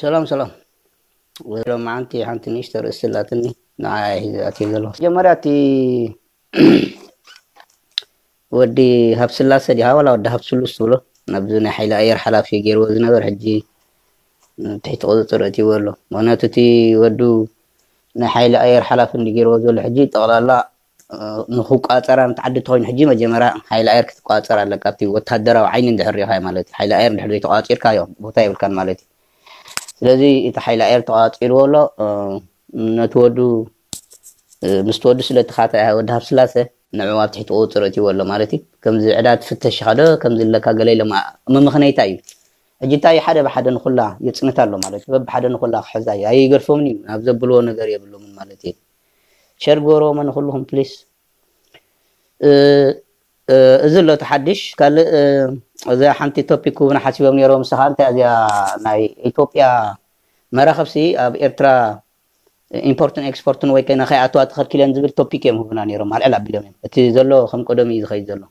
ሰላም ሰላም። ሎማዓንቲ ሓንቲ ንእሽቶ ርእሲ ኣላትኒ፣ ንዓኣ እየ ሒዘ ኣትየ ዘለኹ። መጀመርያ እቲ ወዲ ሃብስላሰ ዲኻ ዋላ ወዲ ሃብስሉስ ትብሎ፣ ናብዚ ናይ ሓይሊ ኣየር ሓላፊ ገይርዎ ዝነበር፣ ሕጂ ትሕቲ ቁፅፅር እትይዎ ኣሎ። ምኽንያቱ እቲ ወዱ ናይ ሓይሊ ኣየር ሓላፊ እንዲ ገይርዎ ዘሎ፣ ሕጂ ጠቕላላ ንክቋፀራ ንትዓዲ ተኮይኑ፣ ሕጂ መጀመርያ ሓይሊ ኣየር ክትቋፀር ኣለካ። ኣብቲ ወታደራዊ ዓይኒ እንድሕር ሪኢኻ ማለት እዩ። ሓይሊ ኣየር እንድሕር ዘይተቋፂርካ እዮም ቦታ የብልካን ማለት እዩ። ስለዚ እቲ ሓይሊ ኣየር ተቋፂርዎ ኣሎ። ነቲ ወዱ ምስ ወዱ ስለቲ ካታ ወዲ ሃብስላሰ ንዕኡ ኣብ ትሕቲ ቁፅፅር እትይዎ ኣሎ ማለት እዩ። ከምዚ ዕዳ ትፍተሽ ኢኻ ዶ ከምዚ ኣለካ ገለ ኢሎም፣ መመኽነይታ እዩ። ሕጂ እንታይ ሓደ ብሓደ ንኩላ የፅንት ኣሎ ማለት እዩ። በብሓደ ንኩላ ክሕዛ እዩ። ኣይገድፎምን እዩ፣ ናብ ዘብልዎ ነገር የብሎምን ማለት እዩ። ሸር ግበርዎ ንኩልኹም ፕሊስ። እዚ ኣሎ እቲ ሓድሽ። ካልእ እዚኣ ሓንቲ ቶፒክ እውን ሓሲቦም ነይሮም፣ ንስኻ እንታይ እዚኣ ናይ ኢትዮጵያ መራኸብሲ ኣብ ኤርትራ ኢምፖርትን ኤክስፖርትን ወይ ከነ ከይኣትዋ ተኸልኪለን ዝብል ቶፒክ እዮም ህቡና ነይሮም። ኣልዕል ኣቢሎም እዮም። እቲ ዘሎ ከም ቀደሙ እዩ ዝኸይድ ዘሎ።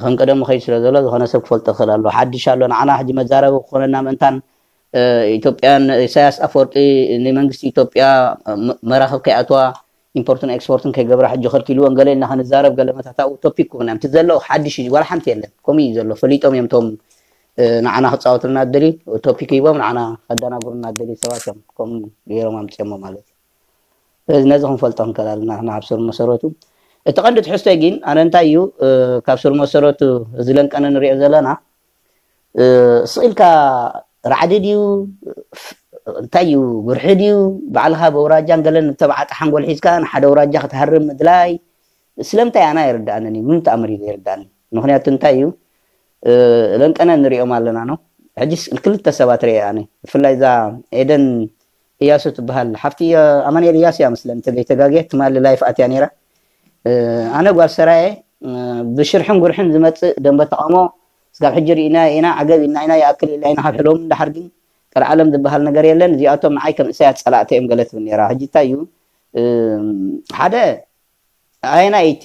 ከም ቀደሙ ኸይድ ስለ ዘሎ ዝኾነ ሰብ ክፈልጦ ክኽእል ኣሎ። ሓድሽ ኣሎ ንዓና ሕጂ መዛረቢ ክኾነና ምእንታን ኢትዮጵያን ኢሳያስ ኣፈወርቂ ንመንግስቲ ኢትዮጵያ መራኸብ ከይኣትዋ ኢምፖርትን ኤክስፖርትን ከይገብራ ሕጂ ከልኪልወን ገለ ኢልና ክንዛረብ ገለ መታታኡ ቶፒክ ክኾና እቲ ዘሎ ሓድሽ እዩ። ዋላ ሓንቲ የለን። ከምኡ እዩ ዘሎ። ፈሊጦም እዮም እቶም ንዓና ክፃወቱልና ዝደልዩ ቶፒክ ሂቦም ንዓና ከደናግሩና ዝደልዩ ሰባት እዮም ከምኡ ገይሮም ኣምፅኦሞ ማለት እዩ። ስለዚ ነዚ ክንፈልጦ ክንክእል ኣለና ንሕና ካብ ስር መሰረቱ። እቲ ቀንዲ ትሕዝቶይ ግን ኣነ እንታይ እዩ ካብ ስር መሰረቱ እዚ ለንቀነ ንሪኦ ዘለና ስቕ ኢልካ ራዕዲ ድዩ እንታይ እዩ ጉርሒ ድዩ ባዕልኻ በውራጃን ገለን ተባዓጣ ሓንጎል ሒዝካ ንሓደ ውራጃ ክትሃርም ምድላይ ስለምንታይ ኣና ይርዳኣንን እዩ ምንም ተኣምር እዩ ዘይርዳኣኒ። ምክንያቱ እንታይ እዩ ለንቀነ ንሪኦም ኣለና ነው። ሕጂስ ክልተ ሰባት ርአ ኣነ ብፍላይ እዛ ኤደን እያሱ ትበሃል ሓፍቲ ኣማንኤል እያሱ እያ መስለኒ ተገይተጋግየ ትማሊ ላይፍ ኣትያ ነይራ። ኣነ ጓል ሰራየ ብሽርሕን ጉርሕን ዝመፅእ ደንበ ተቃውሞ ስጋብ ሕጂ ርኢና ኢና ዓገብ ኢልና ኢና ይኣክል ኢልና ኢና ካብ ሕሎም እንዳሓር ግን ቀልዓለም ዝበሃል ነገር የለን። እዚኣቶም ንዓይ ከም እሳያት ፀላእተ እዮም ገለ ትብል ነይራ። ሕጂ እንታይ እዩ ሓደ ኣየናይ እቲ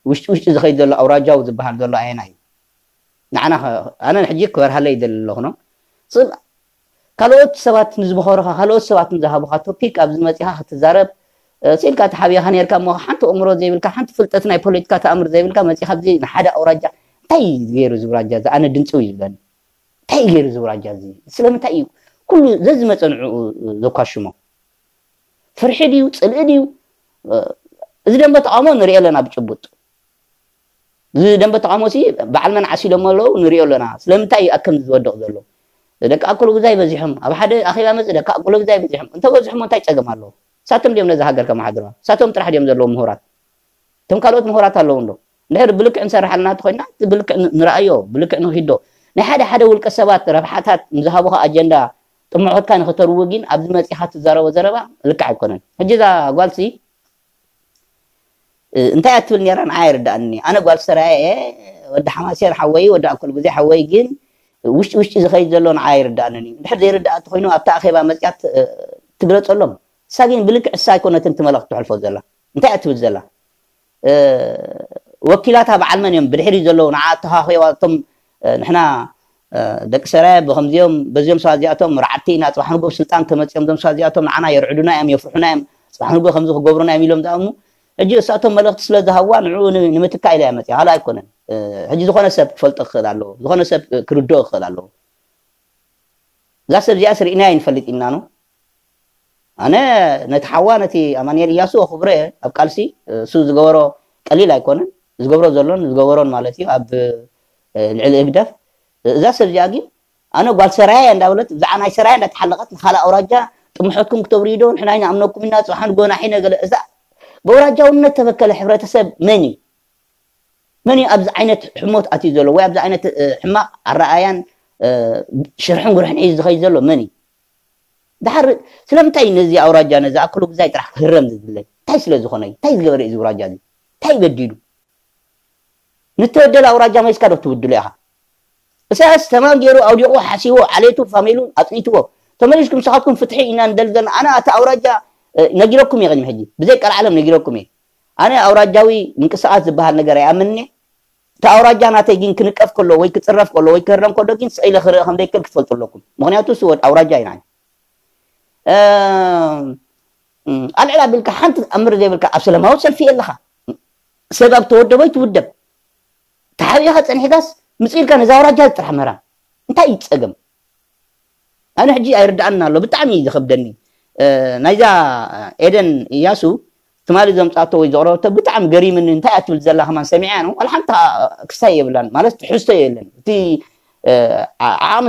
ውሽጢ ውሽጢ ዝኸይድ ዘሎ ኣውራጃዊ ዝበሃል ዘሎ ኣየናይ እዩ? ንዓና ኣነ ሕጂ ክበርሃለይ ይደሊ ኣለኹ ነው ስብ ካልኦት ሰባት ንዝመኸሩኻ ካልኦት ሰባት ንዝሃቡኻ ቶፒክ ኣብዚ መፂኻ ክትዛረብ ስኢልካ ተሓቢኻ ነርካ እሞ ሓንቲ እምሮ ዘይብልካ ሓንቲ ፍልጠት ናይ ፖለቲካ ተኣምር ዘይብልካ መፂኻ ኣብዚ ንሓደ ኣውራጃ እንታይ ገይሩ ዝውራጃ እዚ ኣነ ድምፂ እዩ ዝብለኒ እንታይ ገይሩ ዝውራጃ እዚ ስለምንታይ እዩ ኩሉ ዘዝመፀ ንዕኡ ዘኳሽሞ ፍርሒ ድዩ ፅልኢ ድዩ እዚ ደንበ ተቃውሞ ንሪኦ ኣለና ብጭቡጥ እዚ ደንበ ተቃውሞ ሲ በዓል መን ዓሲሎም ኣለዉ ንሪኦ ኣለና ስለምንታይ እዩ ኣከም ዝወድቕ ዘሎ ደቂ ኣኩሉ ግዛይ በዚሖም ኣብ ሓደ ኣኼባ መፅ ደቂ ኣኩሉ ግዛይ በዚሖም እንተበዝሖም እንታይ ፀገም ኣለዎ ሳቶም ድዮም ነዚ ሃገር ከመሓድራ ሳቶም ጥራሕ ድዮም ዘለዉ ምሁራት እቶም ካልኦት ምሁራት ኣለዉ እንዶ እንድሕር ብልክዕ ንሰርሕ ኣለና ተኮይና ብልክዕ ንረኣዮ ብልክዕ ንክዶ ናይ ሓደ ሓደ ውልቀ ሰባት ረብሓታት ንዝሃቡካ ኣጀንዳ ጥምዖትካ ንክተርዊ ግን ኣብዚ መፂኻ ትዛረቦ ዘረባ ልክዕ ኣይኮነን ሕጂ እዛ ጓልሲ እንታይ እያ ትብል ነራ ንዓ ይርዳእኒ ኣነ ጓል ሰራየ እየ ወዲ ሓማሴን ሓወይ ወዲ ኣኮል ግዜ ሓወይ ግን ውሽጢ ውሽጢ ዝኸይድ ዘሎ ንዓ ይርዳእንን እዩ እንድሕር ዘይርዳእ ተኮይኑ ኣብታ ኣኼባ መፅያ ትግለፀሎም እሳ ግን ብልክዕ እሳ ኣይኮነትን ትመለኽ ትሕልፎ ዘላ እንታይ እያ ትብል ዘላ ወኪላታ በዓል መን እዮም ብድሕሪ ዘለዉ ንዓ ተኻኺዋ እቶም ንሕና ደቂ ሰራየ ብከምዚኦም በዚኦም ሰባት እዚኣቶም ርዓድቲ ኢና ፅባሕ ንጎ ስልጣን ተመፂኦም ዞም ሰባት እዚኣቶም ንዓና የርዕዱና እዮም የፍርሑና እዮም ፅባሕ ንጎ ከምዚ ክገብሩና እዮም ኢሎም ዝኣምኑ ሕጂ እሳቶም መልእክቲ ስለ ዝሃብዋ ንዕኡ ንምትካ ኢላ እያ መፅያ ካልእ ኣይኮነን ሕጂ ዝኾነ ሰብ ክፈልጦ ክኽእል ኣለዎ ዝኾነ ሰብ ክርድኦ ክኽእል ኣለዎ እዛ ሰብ እዚኣ ስርኢና ይንፈልጥ ኢና ነው ኣነ ነቲ ሓዋ ነቲ ኣማንኤል እያሱ ኣኽብሮ እየ ኣብ ቃልሲ እሱ ዝገበሮ ቀሊል ኣይኮነን ዝገብሮ ዘሎን ዝገበሮን ማለት እዩ ኣብ ልዕሊ ህግደፍ እዛ ሰብ እዚኣ ግን ኣነ ጓል ሰራያ እያ እንዳበለት ብዛዕባ ናይ ሰራያ እንዳተሓለቐት ንካልእ ኣውራጃ ጥምሐትኩም ክተብርዩ ዶ ንሕና ይንኣምነኩም ኢና ፅባሕ ንጎ ናሒነ ገለ እዛ በውራጃውነት ተበከለ ሕብረተሰብ መን እዩ መን እዩ ኣብዚ ዓይነት ሕሞት ኣትዩ ዘሎ ወይ ኣብዚ ዓይነት ሕማቕ ኣረኣያን ሽርሕን ጉርሕን ሒዙ ዝኸይድ ዘሎ መን እዩ ድሓር ስለምንታይ ነዚ ኣውራጃ ነዚ ኣክሉ ግዛይ ጥራሕ ክህረም ዝድለ እንታይ ስለ ዝኾነ እንታይ ዝገበረ እዚ ውራጃ እዚ እንታይ በዲሉ ንተወደለ ኣውራጃ መሊስካ ዶ ትውድሎ ኢኻ እሳያስ ተማን ገይሩ ኣውዲቑ ሓሲዎ ዓሌቱ ፋሚሉ ኣፅኒትዎ ተመሊስኩም ንስኻትኩም ፍትሒ ኢና ንደሊ ዘለና ኣነ ኣቲ ኣውራጃ ነጊረኩም እየ ቅድሚ ሕጂ ብዘይ ቀልዓለም ነጊረኩም እየ ኣነ ኣውራጃዊ ምንቅስቃስ ዝበሃል ነገር ኣይኣምንን እየ እቲ ኣውራጃ ናተይ ግን ክንቀፍ ከሎ ወይ ክፅረፍ ከሎ ወይ ክህረም ከሎ ግን ስቕ ኢለ ክርኢ ከም ዘይክእል ክትፈልጡ ኣለኩም። ምክንያቱ እሱ ወድ ኣውራጃ ኢና። ኣልዕል ኣቢልካ ሓንቲ ኣምር ዘይብልካ ኣብ ሰላማዊ ሰልፊ የለኻ። ሰብ ኣብ ተወደቦ ይትውደብ። ተሓቢእካ ፀኒሕካስ ምፅእ ኢልካ ነዛ ኣውራጃ ጥራሕ መራ እንታይ እዩ ፀገም? ኣነ ሕጂ ኣይርዳኣና ኣሎ፣ ብጣዕሚ እዩ ዝኸብደኒ። ናይዛ ኤደን እያሱ ትማሊ ዘምፃቶ ወይ ዘቕረበቶ ብጣዕሚ ገሪምኒ። እንታይ እያ ትብል ዘላ ከማን ሰሚዐያ ነው። ዋላ ሓንቲ ክስታይ የብላን ማለት ትሕዝቶ የለን። እቲ ዓቕሚ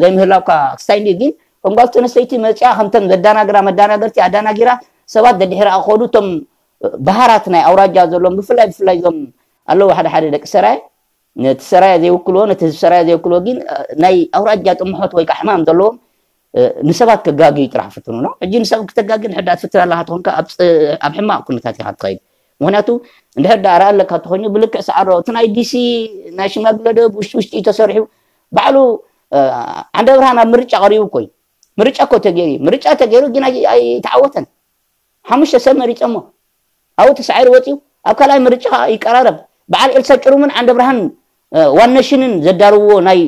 ዘይምህላውካ ክስታይ እንዲ ግን ከም ጓል ተነስተይቲ መፅያ ከምተን ዘዳናግራ መዳናገርቲ ኣዳናጊራ ሰባት ደድሕራ ክኸዱ እቶም ባህራት ናይ ኣውራጃ ዘለዎም ብፍላይ ብፍላይ እዞም ኣለዉ ሓደ ሓደ ደቂ ሰራየ ነቲ ሰራየ ዘይውክልዎ ነቲ ህዝቢ ሰራየ ዘይውክልዎ ግን ናይ ኣውራጃ ጥምሖት ወይ ከዓ ሕማም ዘለዎም ንሰባት ከጋግዩ ጥራሕ ፍትኑ ነው። ሕጂ ንሰብ ክተጋግን ሕዳ ትፍትን ኣለካ ትኾንካ ኣብ ሕማቕ ኩነታት ኢኻ ትኸይድ። ምክንያቱ እንድሕር ዳ ኣርኣ ኣለካ ተኮይኑ ብልክዕ ሰዓሮ እቲ ናይ ዲሲ ናይ ሽማግለ ደብ ውሽጢ ውሽጢ እዩ ተሰሪሑ። ባዕሉ ዓንደ ብርሃን ኣብ ምርጫ ቀሪቡ እኮ እዩ። ምርጫ እኮ ተገይሩ እዩ። ምርጫ ተገይሩ ግን ኣይተዓወተን። ሓሙሽተ ሰብ መሪፀሞ ኣብኡ ተሳዒሩ ወፂኡ ኣብ ካልኣይ ምርጫ ከዓ ይቀራረብ። በዓል ኤልሳ ጭሩምን ዓንደ ብርሃን ዋነሽንን ዘዳርዎ ናይ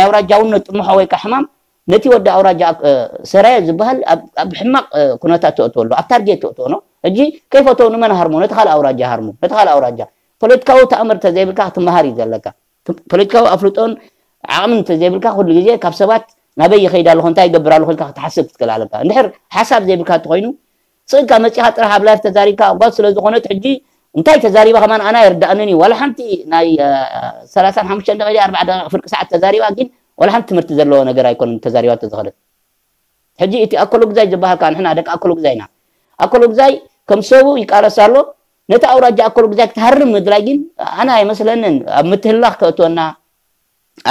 ኣውራጃውነት ጥምሖ ወይ ከዓ ሕማም ነቲ ወዲ ኣውራጃ ሰራየ ዝበሃል ኣብ ሕማቕ ኩነታት ተእትወሉ ኣብ ታርጌት ተእትወ ነው። ሕጂ ከይፈተው ንመን ሃርሞ ነቲ ካልእ ኣውራጃ ሃርሞ ነቲ ካልእ ኣውራጃ ፖለቲካዊ ተኣምር ተዘይብልካ ክትመሃር እዩ ዘለካ። ፖለቲካዊ ኣፍልጦን ዓቕምን እንተዘይብልካ ኩሉ ግዜ ካብ ሰባት ናበይ ይኸይድ ኣለኹ እንታይ ይገብር ኣለኹ ኢልካ ክትሓስብ ክትክእል ኣለካ። እንድሕር ሓሳብ ዘይብልካ እንተኮይኑ ስእልካ መፂኻ ጥራሕ ኣብ ላይፍ ተዛሪብካ ጓል ስለ ዝኾነት ሕጂ እንታይ ተዛሪባ ከማን ኣና ይርዳእንን እዩ። ዋላ ሓንቲ ናይ ሰላሳን ሓሙሽተን ደቂቃ ኣርባዓ ደቂቃ ፍርቂ ሰዓት ተዛሪባ ግን ዋላ ሓንቲ ትምህርቲ ዘለዎ ነገር ኣይኮነን ተዛሪባ ተዝኸለት። ሕጂ እቲ ኣኮሎ ግዛይ ዝበሃል ከዓ ንሕና ደቂ ኣኮሎ ግዛይ ኢና። ኣኮሎ ግዛይ ከም ሰቡ ይቃለስ ኣሎ። ነቲ ኣውራጃ ኣኮሎ ግዛይ ክትሃርም ምድላይ ግን ኣነ ኣይመስለንን ኣብ ምትህላኽ ከእትወና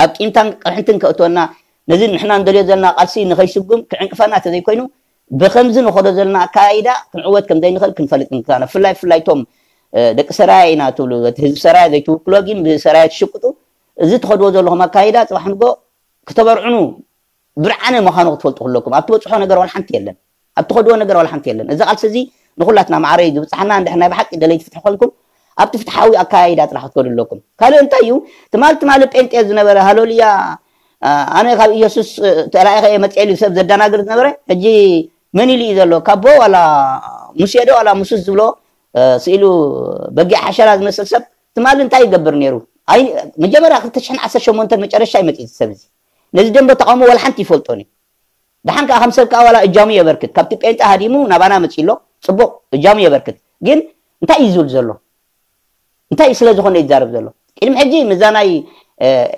ኣብ ቂምታን ቅርሕንትን ከእትወና ነዚ ንሕና እንደልዮ ዘለና ቃልሲ ንኸይስጉም ክዕንቅፈና ተዘይኮይኑ ብከምዚ ንኸዶ ዘለና ኣካያይዳ ክንዕወት ከም ዘይንኽእል ክንፈልጥ ንክና ብፍላይ ብፍላይ ቶም ደቂ ሰራያ ኢና ትብሉ እቲ ህዝቢ ሰራያ ዘይትውክሎ ግን ብሰራያ ትሽቅጡ እዚ ትኸድዎ ዘለኹም ኣካይዳ ፅባሕ ንጎ ክተበርዕኑ ብርዓነ ምዃኑ ክትፈልጡ ከለኩም ኣብ ትበፅሖ ነገር ዋላ ሓንቲ የለን። ኣብ ትኸድዎ ነገር ዋላ ሓንቲ የለን። እዚ ቃልሲ እዚ ንኩላትና ማዕረ እዩ ዝብፅሓና። እንድሕር ናይ ብሓቂ ደለይቲ ፍትሒ ኮንኩም ኣብቲ ፍትሓዊ ኣካያይዳ ጥራሕ ክትከዱ ኣለኩም። ካልእ እንታይ እዩ ትማል ትማል ጴንጤ ዝነበረ ሃሎልያ ኣነ ካብ ኢየሱስ ተላኢኸ እየ መፅኤ ኢሉ ሰብ ዘደናግር ዝነበረ ሕጂ መን ኢሉ እዩ ዘሎ ካቦ ዋላ ሙሴ ዶ ዋላ ሙሱስ ዝብሎ ስኢሉ በጊዕ ሓሸራ ዝመስል ሰብ ትማል እንታይ ይገብር ነይሩ? መጀመርያ ክልተ ሽሕን ዓሰርተ ሸሞንተን መጨረሻ ይመፅእ እዚ ሰብ እዚ ነዚ ደንበ ተቃውሞ ዋላ ሓንቲ ይፈልጦን እዩ። ደሓን ከዓ ከም ሰብ ከዓ ዋላ እጃሙ የበርክት ካብቲ ጴንጣ ሃዲሙ ናባና መፂ ኣሎ ፅቡቅ እጃሙ የበርክት ግን እንታይ እዩ ዝብል ዘሎ እንታይ ስለ ዝኾነ ይዛረብ ዘሎ ቅድሚ ሕጂ ምዛ ናይ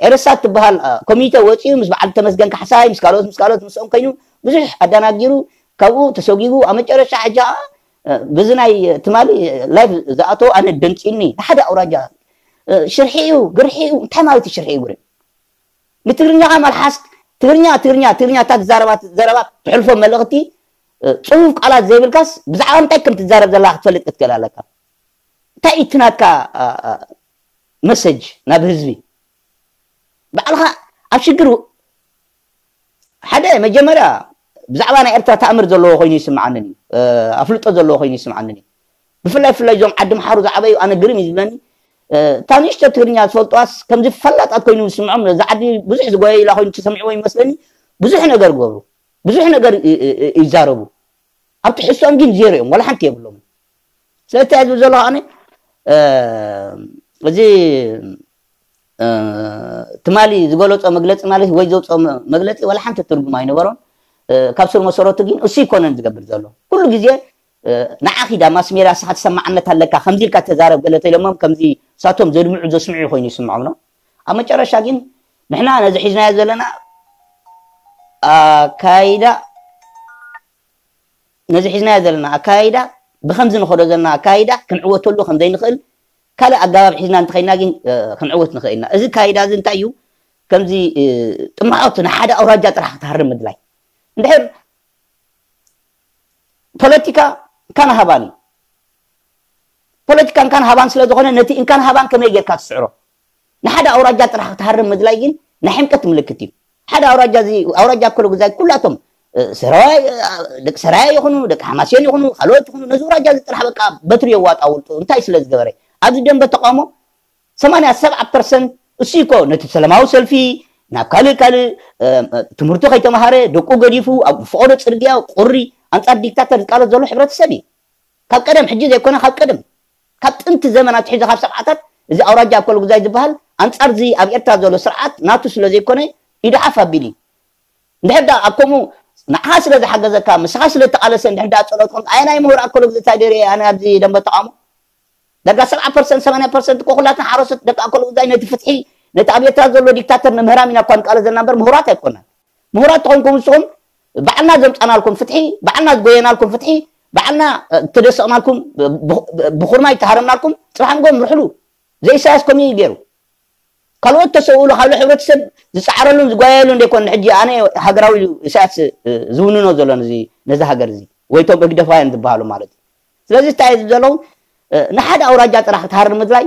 ኤረሳ ትበሃል ኮሚተ ወፂኡ ምስ በዓል ተመስገን ካሕሳይ ምስ ካልኦት ምስ ካልኦት ምስኦም ኮይኑ ብዙሕ ኣደናጊሩ ካብኡ ተሰጊጉ ኣብ መጨረሻ ሕጂ ከዓ ብዚ ናይ ትማሊ ላይፍ ዝኣተው ኣነ ደንፂኒ ንሓደ ኣውራጃ ሽርሒ እዩ ግርሒ እዩ እንታይ ማለት እዩ ሽርሒ እዩ ግርሒ ንትግርኛኻ መልሓስ ትግርኛ ትግርኛ ትግርኛ እታ ትዛረባ ዘረባ ትሕልፎ መልእኽቲ ፅሁፍ ቃላት ዘይብልካስ ብዛዕባ እንታይ ከም ትዛረብ ዘለካ ክትፈልጥ ክትክእል ኣለካ እንታይ እዩ እቲ ናትካ መሰጅ ናብ ህዝቢ ባዕልኻ ኣብ ሽግር ሓደ መጀመርያ ብዛዕባ ናይ ኤርትራ ተኣምር ዘለዎ ኮይኑ ይስምዓንን እዩ ኣፍልጦ ዘለዎ ኮይኑ ይስምዓንን እዩ ብፍላይ ፍላይ እዞም ዓዲ ምሓሩ ዝዓበዩ ኣነ ግርም እዩ ዝብለኒ እታ ንእሽቶ ትግርኛ ዝፈልጥዋስ ከምዚ ፈላጣት ኮይኑ ዝስምዖም ነዛ ዓዲ ብዙሕ ዝጎየ ኢላ ኮይኑ ተሰሚዕዎ ይመስለኒ ብዙሕ ነገር ገብሩ ብዙሕ ነገር ይዛረቡ ኣብ ትሕዝቶኦም ግን ዜሮ እዮም ዋላ ሓንቲ የብሎም ስለዚ እንታይ ዝብል ዘሎ ኣነ እዚ ትማሊ ዝገለፆ መግለፂ ማለት ወይ ዘውፅኦ መግለፂ ዋላ ሓንቲ ትርጉም ኣይነበሮን ካብ ስር መሰረቱ ግን እሱ ይኮነን ዝገብር ዘሎ ኩሉ ግዜ ንዓኺ ዳ ማስሜዳ ንስኻ ተሰማዕነት ኣለካ ከምዚ ኢልካ ተዛረብ ገለ ተኢሎሞም ከምዚ ሳቶም ዘድምዑ ዘስምዑ ኮይኑ ይስምዖም ነው ኣብ መጨረሻ ግን ንሕና ነዚ ሒዝናዮ ዘለና ኣካይዳ ነዚ ሒዝናዮ ዘለና ኣካይዳ ብከምዚ ንኸዶ ዘለና ኣካይዳ ክንዕወተሉ ከም ዘይንኽእል ካልእ ኣጋባብ ሒዝና እንተኸይና ግን ክንዕወት ንኽእል ኢና እዚ ካይዳ እዚ እንታይ እዩ ከምዚ ጥማዖት ንሓደ ኣውራጃ ጥራሕ ክትሃርም ምድላይ እንድሕር ፖለቲካ እንካን ሃባን እዩ ፖለቲካ እንካን ሃባን ስለ ዝኾነ ነቲ እንካን ሃባን ከመይ ጌርካ ትስዕሮ ንሓደ ኣውራጃ ጥራሕ ክትሃርም ምድላይ ግን ናይ ሕምቀት ምልክት እዩ ሓደ ኣውራጃ እዚ ኣውራጃ ከሎ ግዛይ ኩላቶም ሰራዋይ ደቂ ሰራያ ይኹኑ ደቂ ሓማሴን ይኹኑ ካልኦት ይኹኑ ነዚ ኣውራጃ እዚ ጥራሕ በቃ በትሪ የዋጣ ውልጡ እንታይ ስለ ዝገበረ ኣብዚ ደንበ ተቃውሞ ሰማንያ ሰብዓ ፐርሰንት እሱ እኮ ነቲ ሰላማዊ ሰልፊ ናብ ካልእ ካልእ ትምህርቱ ከይተማሃረ ደቁ ገዲፉ ኣብ ፈቐዶ ፅርግያ ቁሪ ኣንፃር ዲክታተር ዝቃለስ ዘሎ ሕብረተሰብ እዩ። ካብ ቀደም ሕጂ ዘይኮነ ካብ ቀደም ካብ ጥንቲ ዘመናት ሕዚ ካብ ሰብዓታት እዚ ኣውራጃ ኣኮል ጉዛይ ዝበሃል ኣንፃር እዚ ኣብ ኤርትራ ዘሎ ስርዓት ናቱ ስለ ዘይኮነ ኢዱ ሓፍ ኣቢሉ እዩ። እንድሕር ዳ ኣብ ከምኡ ንዓኻ ስለ ዝሓገዘካ ምስኻ ስለ እተቓለሰ እንድሕር ዳ ጸሎት ኮንካ ኣየናይ ምሁር ኣኮል ጉዛይ ደርየ ኣነ ኣብዚ ደንበ ተቓውሞ ዳርጋ ሰብዓ ፐርሰንት ሰማንያ ፐርሰንት እኮ ኩላትና ሓረሶት ደቂ ኣኮል ጉዛይ ነቲ ፍትሒ ነቲ ኣብ ኤርትራ ዘሎ ዲክታተር ንምህራም ኢና እኳ ንቃለስ ዘለና እምበር ምሁራት ኣይኮናን። ምሁራት ተኾንኩም ንስኹም ባዕልና ዘምጻናልኩም ፍትሒ ባዕልና ዝጎየናልኩም ፍትሒ ባዕልና ተደሰቕናልኩም ብኹርማይ ተሃረምናልኩም ጽባሕ ንጎ ምርሕሉ። ዘኢሳያስ ከምኡ እዩ ገይሩ። ካልኦት ተሰውእሉ ካልእ ሕብረተሰብ ዝፀዓረሉን ዝጓየሉን ዘይኮን ሕጂ ኣነ ሃገራዊ ኢሳያስ ዝውንኖ ዘሎ ነዚ ነዚ ሃገር እዚ ወይ ቶም ህግደፋውያን ዝበሃሉ ማለት እዩ። ስለዚ እንታይ እዩ ዘለዉ ንሓደ ኣውራጃ ጥራሕ ክትሃርም ምድላይ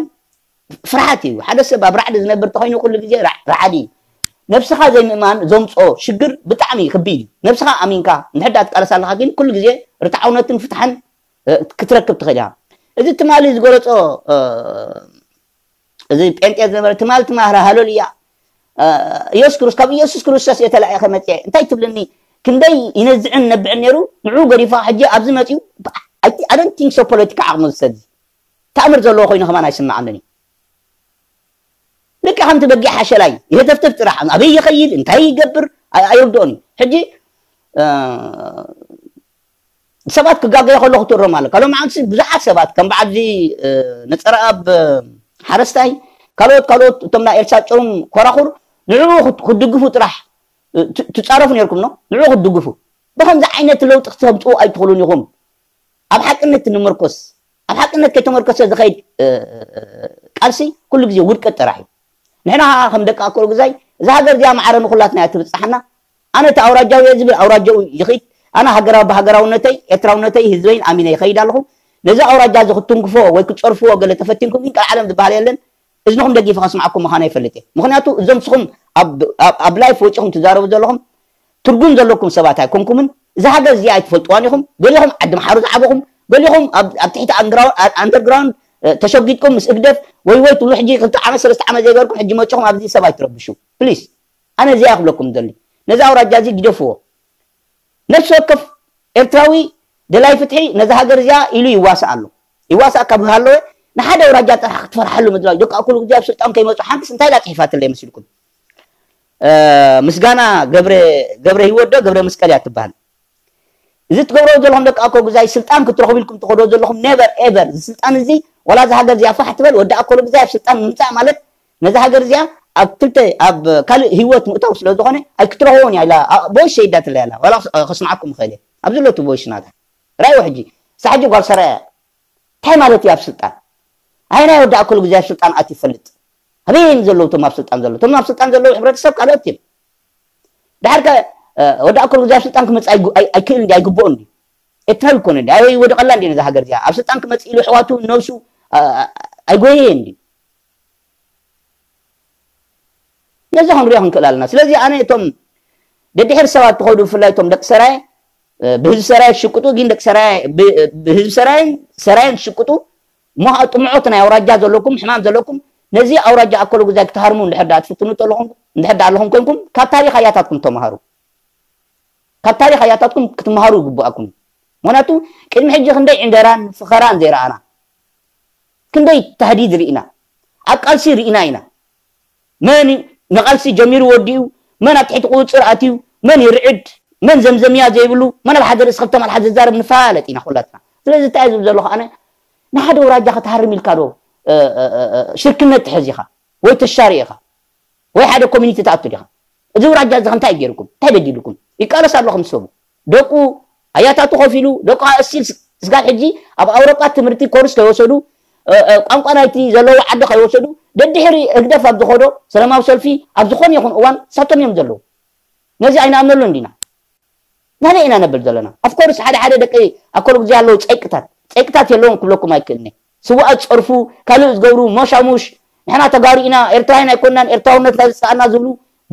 ፍርሓት እዩ። ሓደ ሰብ ኣብ ራዕዲ ዝነብር ተኮይኑ ኩሉ ግዜ ራዕዲ እዩ። ነብስኻ ዘይምእማን ዘምፅኦ ሽግር ብጣዕሚ ከቢድ እዩ። ነብስኻ ኣሚንካ እንድሕዳ ትቃለስ ኣለካ ግን ኩሉ ግዜ ርትዓውነትን ፍትሓን ክትረክብ ትኽእል ኢኻ። እዚ ትማሊ ዝገለፆ እዚ ጴንጤ ዝነበረ ትማል ትማህረ ሃለሉያ ኢየሱስ ክርስቶስ ካብ ኢየሱስ ክርስቶስ የተላእኸ መፅአ እንታይ ትብልኒ ክንደይ ይነዝዕን ነብዕን ነይሩ ንዑ ገዲፋ ሕጂ ኣብዚ መፅኡ I don't think so ፖለቲካ ዓቕሚ ዝሰድ ተኣምር ዘለዎ ኮይኑ ከማን ኣይስምዓንን እዩ። ልክዕ ከምቲ በጊዕ ሓሸላይ ይህተፍተፍ ጥራሕ ኣበይ ይኸይድ እንታይ ይገብር ኣይርድኦን እዩ። ሕጂ ሰባት ክጋገየ ከለኹ ትእሮም ኣሎ። ካልኦ መዓልቲ ብዙሓት ሰባት ከም በዓል እዚ ነፀረኣብ ሓረስታይ ካልኦት ካልኦት እቶም ናይ ኤልሳ ጨውም ኮራኹር ንዕኡ ክድግፉ ጥራሕ ትፃረፉ ነርኩም ነው ንዕኡ ክትድግፉ ብከምዚ ዓይነት ለውጢ ክተምፅኡ ኣይትኽእሉን ኢኹም። ኣብ ሓቅነት ንመርኮስ ኣብ ሓቅነት ከይተመርኮሰ ዝኸይድ ቃልሲ ኩሉ ግዜ ውድቀት ጥራሕ እዩ። ንሕና ከም ደቂ ኣኮል ግዛይ እዛ ሃገር እዚኣ ማዕረ ንኩላትና እያ ትብፅሓና። ኣነ እቲ ኣውራጃዊ እየ ዝብል ኣውራጃኡ ይኽድ። ኣነ ሃገራዊ ብሃገራውነተይ ኤርትራውነተይ ህዝበይን ኣሚነ ይኸይድ ኣለኹ። ነዚ ኣውራጃ እዚ ክትትንክፎ ወይ ክትፀርፍዎ ገለ ተፈቲንኩም ግን ቀልዓለም ዝበሃል የለን። እዝንኹም ደጊፈ ከስምዓኩም ምዃነ ይፈልጥ እየ። ምኽንያቱ እዞም ስኹም ኣብ ላይፍ ወፂኹም ትዛረቡ ዘለኹም ትርጉም ዘለኩም ሰባት ኣይኮንኩምን። እዛ ሃገር እዚኣ ኣይትፈልጥዋን ኢኹም። ገሊኹም ዓዲ ምሓሩ ዝዓበኹም፣ ገሊኹም ኣብ ትሕቲ ኣንደርግራውንድ ተሸጒጥኩም ምስ እግደፍ ወይ ወይ ትብሉ ሕጂ ክልተ ዓመት ሰለስተ ዓመት ዘይገርኩም ሕጂ መፂኹም ኣብዚ ሰብ ኣይትረብሹ ፕሊስ። ኣነ እዚኣ ክብለኩም ደሊ ነዚ ኣውራጃ እዚ ግደፍዎ። ነፍሲ ወከፍ ኤርትራዊ ደላይ ፍትሒ ነዚ ሃገር እዚኣ ኢሉ ይዋሳእ ኣሎ። ይዋሳእ ካብ ሃለወ ንሓደ ኣውራጃ ጥራሕ ክትፈርሓሉ ምድላው ደቂ ኣኩሉ ግዜ ኣብ ስልጣን ከይመፁ ሓንትስ እንታይ ኢላ ፅሒፋትለይ መሲልኩም? ምስጋና ገብረ ገብረ ህይወት ዶ ገብረ መስቀል እያ ትበሃል። እዚ ትገብሮ ዘለኹም ደቂ ኣኮ ግዛይ ስልጣን ክትረኽቡ ኢልኩም ትኸዶ ዘለኹም never ever እዚ ስልጣን እዚ ወላ እዚ ሃገር እዚኣ ፋሕ ትበል ወዲ ኣኮሎ ግዛይ ኣብ ስልጣን ምምፃእ ማለት ነዚ ሃገር እዚኣ ኣብ ክልተ ኣብ ካልእ ህይወት ምእታው ስለ ዝኾነ ኣይክትረኽቦን እያ ኢላ ቦይስ ሸይዳትለ ያላ ዋላ ከስምዓኩም ይኽእል እየ ኣብዚ ሎቱ ቦይስ ናታ ራእይዎ ሕጂ ሳሕጂ ጓል ሰራያ እንታይ ማለት እዩ ኣብ ስልጣን ኣይ ናይ ወዲ ኣኮሎ ግዛይ ኣብ ስልጣን ኣት ይፈልጥ ኣበይን ዘለዉ ቶም ኣብ ስልጣን ዘለዉ ቶም ኣብ ስልጣን ዘለዉ ሕብረተሰብ ካልኦት እዮም ድሓር ከ ወዲ ኣኮል ግዜ ኣብ ስልጣን ክመፅእ ኣይክእል እንዲ ኣይግብኦ እንዲ ኤርትራዊ ይኮነ እንዲ ኣይ ወድቀላ እንዲ ነዛ ሃገር እዚኣ ኣብ ስልጣን ክመፅእ ኢሉ ኣሕዋቱ ነብሱ ኣይጎየየ እንዲ ነዚ ክንሪኦ ክንክእል ኣለና ስለዚ ኣነ እቶም ደድሕር ሰባት ትኸዱ ብፍላይ እቶም ደቂ ሰራየ ብህዝቢ ሰራየ ትሽቅጡ ግን ደቂ ሰራየ ብህዝቢ ሰራየን ሰራየን ትሽቅጡ እሞ ከዓ ጥምዖት ናይ ኣውራጃ ዘለኩም ሕማም ዘለኩም ነዚ ኣውራጃ ኣኮሎ ጉዛይ ክትሃርሙ እንድሕር ደኣ ትፍትኑ እንድሕር ደኣ ኣለኹም ኮንኩም ካብ ታሪኽ ኣያታትኩም ተምሃሩ ካብ ታሪኽ ኣያታትኩም ክትምሃሩ ይግብኣኩም ምክንያቱ ቅድሚ ሕጂ ክንደይ ዕንደራን ፍኸራን ዘይረኣና ክንደይ ታህዲድ ርኢና ኣብ ቃልሲ ርኢና ኢና መን ንቓልሲ ጀሚሩ ወዲኡ መን ኣብ ትሕቲ ቁፅፅር ኣትዩ መን ይርዕድ መን ዘምዘምያ ዘይብሉ መን ኣብ ሓደ ርእሲ ክልተ ማልሓት ዝዛረብ ንፋለጥ ኢና ኩላትና ስለዚ እንታይ ዝብል ዘለኹ ኣነ ንሓደ ውራጃ ክትሃርም ኢልካ ዶ ሽርክነት ትሕዝ ኢኻ ወይ ተሻሪ ኢኻ ወይ ሓደ ኮሚኒቲ ትኣቱ ዲኻ እዚ ውራጃ እዚ ከምታይ ገይርኩም እንታይ በዲልኩም ይቃለስ ኣለኹም ሰቡ ደቁ ኣያታቱ ከፊሉ ደቁ ኣእሲል ስጋብ ሕጂ ኣብ ኣውሮጳ ትምህርቲ ኮርስ ከይወሰዱ ቋንቋ ናይቲ ዘለዎ ዓዲ ከይወሰዱ ደድሕሪ ህግደፍ ኣብ ዝኸዶ ሰላማዊ ሰልፊ ኣብ ዝኾነ ይኹን እዋን ሳቶም እዮም ዘለዉ ነዚ ኣይንኣምነሉ እንዲና ናበይ ኢና ነብል ዘለና ኣፍኮርስ ሓደ ሓደ ደቂ ኣኮሎ ግዜ ኣለዉ ፀይቅታት ፀይቅታት የለዎም ክብለኩም ኣይክእልኒ ስዋኣት ፀርፉ ካልእ ዝገብሩ ሞሻሙሽ ንሕና ተጋሩ ኢና ኤርትራውያን ኣይኮንናን ኤርትራውነትና ዝፀኣና ዝብሉ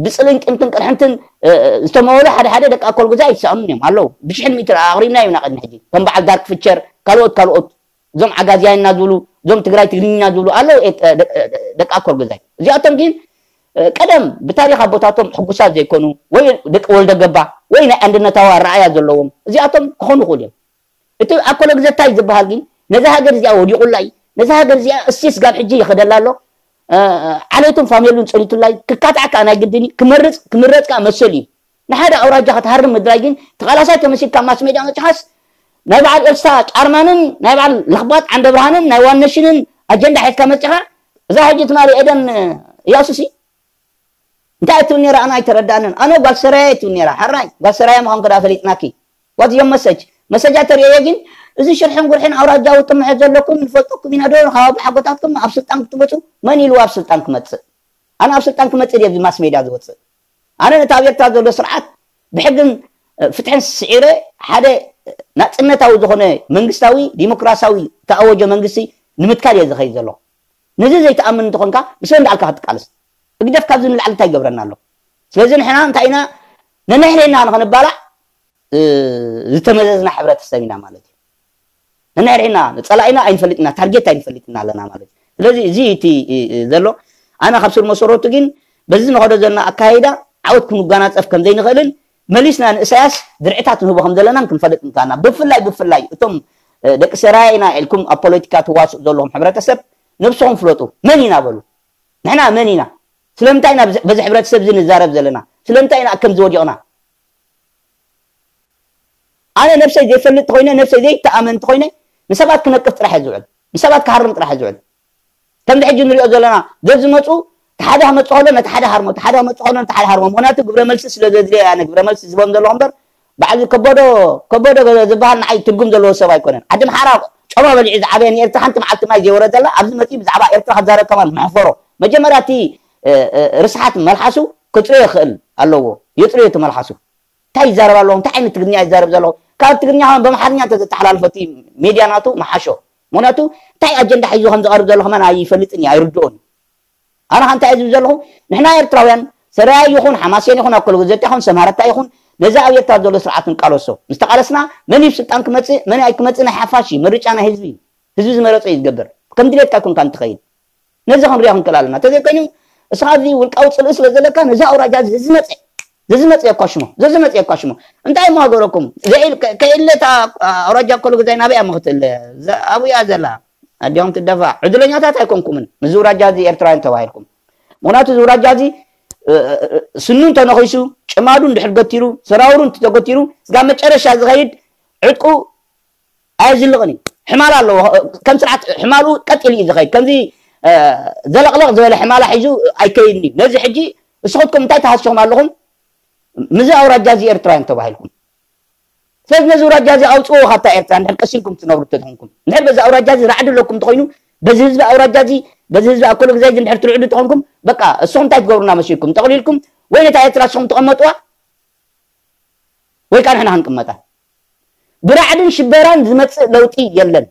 ብፅልእን ቂምትን ቅርሕንትን ዝተመወሉ ሓደ ሓደ ደቂ ኣኮል ግዜ ኣይሰኣኑን እዮም ኣለዉ ብሽሕን ሚእቲ ኣቕሪብና ኢና ቅድሚ ሕጂ ከም በዓል ዳርክ ፍቸር ካልኦት ካልኦት እዞም ዓጋዝያን እና ዝብሉ፣ እዞም ትግራይ ትግርኛ ዝብሉ ኣለዉ፣ ኤ- ደ- ደ- ደቂ ኣኮል ገዛይ። እዚኣቶም ግን እ፣ ቀደም ብታሪኽ ኣቦታቶም ሕጉሳት ዘይኮኑ፣ ወይ ደቂ ወልደ ገባ፣ ወይ ናይ ኣንድነታዊ ኣረኣያ ዘለዎም፣ እዚኣቶም ክኾኑ ይኽእሉ እዮም። እቲ ኣኮለ ግዘታይ ዝበሃል ግን ነዛ ሃገር እዚኣ ወዲቑላ እዩ። ነዛ ሃገር እዚኣ እስቲስ ጋብ ሕጂ ይኸደላ ኣሎ። እ፣ ዓሌቱን ፋሚሉን ጸኒቱላ እዩ። ክካታዕ ከኣ ናይ ግድን እዩ። ክመርጽ ክምረጽ ከኣ መሰል እዩ። ንሓደ ኣውራጃ ክትሃርም ምድላይ ግን ተቓላሳይ ተመሲልካ ኣብ ማስ ሜድያ መጽሓስ ናይ በዓል ኤልሳ ጫርማንን ናይ በዓል ለኽባጥ ዓንደ ብርሃንን ናይ ዋነሽንን ኣጀንዳ ሒዝካ መጽኻ። እዛ ሕጂ ትማሊ ኤደን እያሱሲ እንታይ ትብል ነራ? ኣነ ኣይተረዳእንን። ኣነ ጓል ሰራየ ትብል ነራ። ሕራይ ጓል ሰራየ ምዃንኩ ዳ ፈሊጥናኪ። What your message? መሰጃ ተርእየ ግን እዚ ሽርሕን ጉርሕን ኣውራጃዊ ጥምሐት ዘለኩም ንፈልጠኩም ኢና ዶ? ካብ ሓጎታትኩም ኣብ ስልጣን ክትመፁ መን ኢልዋ ኣብ ስልጣን ክመፅእ? ኣነ ኣብ ስልጣን ክመፅእ ድየ ኣብዚ ማስ ሜድያ ዝወፅእ? ኣነ ነቲ ኣብ ኤርትራ ዘሎ ስርዓት ብሕግን ፍትሕን ስዒረ ሓደ ናፅነታዊ ዝኾነ መንግስታዊ ዲሞክራሲያዊ ተኣወጀ መንግስቲ ንምትካል እየ ዝኸይድ ዘለኹ። ነዚ ዘይትኣምን እንተኾንካ ምስ መን ዳኣልካ ክትቃለስ? ህግደፍ ካብዚ ንላዕሊ እንታይ ይገብረና ኣሎ? ስለዚ ንሕና እንታይ ኢና ነንሕድሕድና ንኽንባላዕ እ፣ ዝተመዘዝና ሕብረተሰብ ኢና ማለት እዩ። ነንሕድሕድና ጸላኢና ኣይንፈልጥና፣ ታርጌት ኣይንፈልጥና ኣለና ማለት እዩ። ስለዚ እዚ እቲ እ፣ እ፣ ዘሎ ኣነ ካብ ስር መሰረቱ ግን በዚ ንኸዶ ዘለና ኣካይዳ ዓወት ክንጓናጸፍ ከም ዘይንኽእልን መሊስና ንእሳያስ ድርዕታት ንህቦ ከም ዘለናን ክንፈልጥ እንካና ብፍላይ ብፍላይ እቶም እ፣ ደቂ ሰራየ ኢና ኢልኩም ኣብ ፖለቲካ ትዋስኡ ዘለኹም ሕብረተሰብ ነብስኹም ፍለጡ። መን ኢና በሉ? ንሕና መን ኢና? ስለምንታይ ኢና ብዚ- በዚ ሕብረተሰብ እዚ ንዛረብ ዘለና? ስለምንታይ ኢና ከምዚ ወዲቕና? ኣነ ነብሰይ ዘይፈልጥ ተኾይነ ነብሰይ ዘይተኣመን ተኾይነ ንሰባት ክነቅፍ ጥራሕ እየ ዝውዕል። ንሰባት ክሃርም ጥራሕ እየ ዝውዕል። ከምዚ ሕጂ ንሪኦ ዘለና ዘዝመፁ ተሓደ ክመፁ ከሎ ነቲ ሓደ ሃርሞ ተሓደ ክመፁ ከሎ ነቲ ሓደ ሃርሞ ምክንያቱ ግብረ መልሲ ስለ ዘድልዮ ኣነ ግብረ መልሲ ዝቦም ዘለኹ እምበር ባዕዚ ከበዶ ከበዶ ዝበሃል ንዓይ ትርጉም ዘለዎ ሰብ ኣይኮነን። ዓዲ ምሓራ ጮማ በሊዑ ዝዓበየ ንኤርትራ ሓንቲ መዓልቲ ማይ ዘይወረደላ ኣብዚ መፂኡ ብዛዕባ ኤርትራ ክዛረብ ከማን መሕፈሮ። መጀመርያ እቲ ርስሓት መልሓሱ ክፅርዮ ይኽእል ኣለዎ። የፅርዮ እቲ መልሓሱ። እንታይ ይዛረብ ኣለኹ? እንታይ ዓይነት ትግርኛ ይዛረብ ዘለኹ? ካብ ትግርኛ ከማን ብኣምሓርኛ እንተዘተሓላልፎ እቲ ሜድያ ናቱ ምሓሾ። ምክንያቱ እንታይ ኣጀንዳ ሒዙ ከም ዝቐርብ ዘሎ ከማን ኣይፈልጥን እዩ ኣይርድኦን እዩ። ኣነ ከ እንታይ እየ ዝብል ዘለኹ? ንሕና ኤርትራውያን ሰራያ ይኹን ሓማሴን ይኹን ኣኮሎ ገዘት ይኹን ሰማረታ ይኹን ነዚ ኣብ ኤርትራ ዘሎ ስርዓት ንቃለሶ። ምስ ተቃለስና መን እዩ ስልጣን ክመጽእ መን ኣይክመጽእ ናይ ሓፋሽ እዩ። ምርጫ ናይ ህዝቢ እዩ። ህዝቢ ዝመረጾ እዩ ዝገብር። ከም ድሌትካ ኮንካ እንትኸይድ ነዚ ክንሪኦ ክንክእል ኣለና። ተዘይኮይኑ እስኻ እዚ ውልቃዊ ጽልኢ ስለ ዘለካ ነዚ ኣውራጃ እዚ ዝመጽእ ዘዝመጽእ የኳሽሞ ዘዝመጽእ የኳሽሞ እንታይ እሞ ሃገረኩም ከኢለታ ኣውራጃ ኮሎ ገዛይ ናበይ እያ ምኽትል ኣብያ ዘላ ኣዲኦም ትደፋ ዕድለኛታት ኣይኮንኩምን። ምዚ ውራጃ እዚ ኤርትራውያን ተባሂልኩም ምክንያቱ እዚ ውራጃ እዚ ስኑ እንተነኺሱ ጭማዱ እንድሕር ገቲሩ ሰራውሩ እንተተገቲሩ ስጋብ መጨረሻ ዝኸይድ ዕጥቁ ኣየዝልቕን እዩ። ሕማል ኣለዎ ከም ስርዓት ሕማሉ ቀጢሉ እዩ ዝኸይድ። ከምዚ ዘለቕለቕ ዝበለ ሕማላ ሒዙ ኣይከይድን እዩ። ነዚ ሕጂ እስኹትኩም እንታይ ተሃስኹም ኣለኹም? ምዚ ኣውራጃ እዚ ኤርትራውያን ተባሂልኩም ስለዚ ነዚ ኣውራጃ እዚ ኣውፅዎ ካብታ ኤርትራ እንድሕር ቀሲንኩም ትነብሩ እንተኾንኩም እንድሕር በዚ ኣውራጃ እዚ ራዕዲ ኣለኩም እንተኾይኑ በዚ ህዝቢ ኣውራጃ እዚ በዚ ህዝቢ ኣኮሎ ግዛይ እዚ እንድሕር ትርዕዱ እንተኾንኩም በቃ እስኹም እንታይ ትገብሩና መሲልኩም ጠቕሊልኩም ወይ ነታ ኤርትራ እስኹም ትቐመጥዋ ወይ ከዓ ንሕና ክንቅመጣ ብራዕድን ሽበራን ዝመፅእ ለውጢ የለን።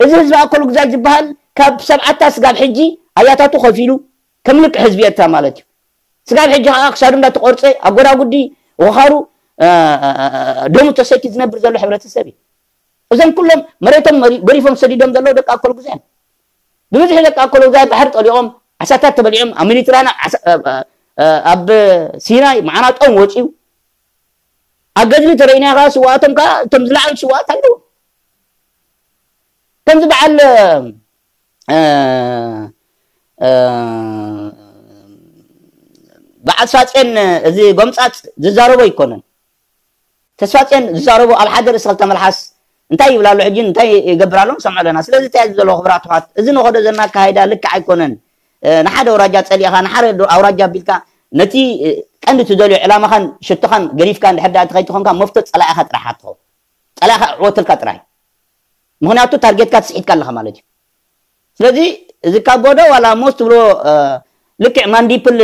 እዚ ህዝቢ ኣኮሎ ግዛይ ዝበሃል ካብ ሰብዓታ ስጋብ ሕጂ ኣያታቱ ከፊሉ ከም ልክዕ ህዝቢ ኤርትራ ማለት እዩ። ስጋብ ሕጂ ከዓ ክሳዱ እንዳተቆርፀ ኣጎዳጉዲ ወኻሩ ደሙ ተሰትዩ ዝነብር ዘሎ ሕብረተሰብ እዩ። እዞም ኩሎም መሬቶም ገሪፎም ሰዲዶም ዘለዉ ደቂ ኣኮሎ ግዛይ እዮም። ብብዝሒ ደቂ ኣኮሎ ግዛይ ባሕሪ ጠሊቖም ዓሳታት ተበሊዖም ኣብ ሜዲትራንያን ኣብ ሲናይ መዓናጦም ወፂኡ ኣብ ገድሊ ተረኢና ከዓ ስዋኣቶም ከዓ እቶም ዝለዓሉ ስዋኣት ኣለዉ። ከምዚ በዓል በዓል ሳጼን እዚ ጎምፃፅ ዝዛረቦ ኣይኮነን። ተስፋጼን ዝዛረቦ ኣብ ሓደ ርእሲ ክልተ መልሓስ እንታይ ይብል ኣሎ ሕጂ እንታይ ይገብር ኣሎ ንሰምዖ ኣለና። ስለዚ እንታይ ዘሎ ክብራት ውሓት እዚ ንኸዶ ዘለና ኣካይዳ ልክዕ ኣይኮነን። ንሓደ ኣውራጃ ፀሊእኻ ንሓደ ኣውራጃ ኣቢልካ ነቲ ቀንዲ ትደልዮ ዕላማኻን ሽቶኻን ገዲፍካ እንድሕር ዳ ትኸይድ ትኾንካ መፍቶ ፀላኢኻ ጥራሕ ኣትኸው ፀላኢኻ ዕወትልካ ጥራይ ምኽንያቱ ታርጌትካ ትስሒትካ ኣለኻ ማለት እዩ። ስለዚ እዚ ካብ ቦዶ ዋላ ሞስ ትብሎ ልክዕ ማንዲፕል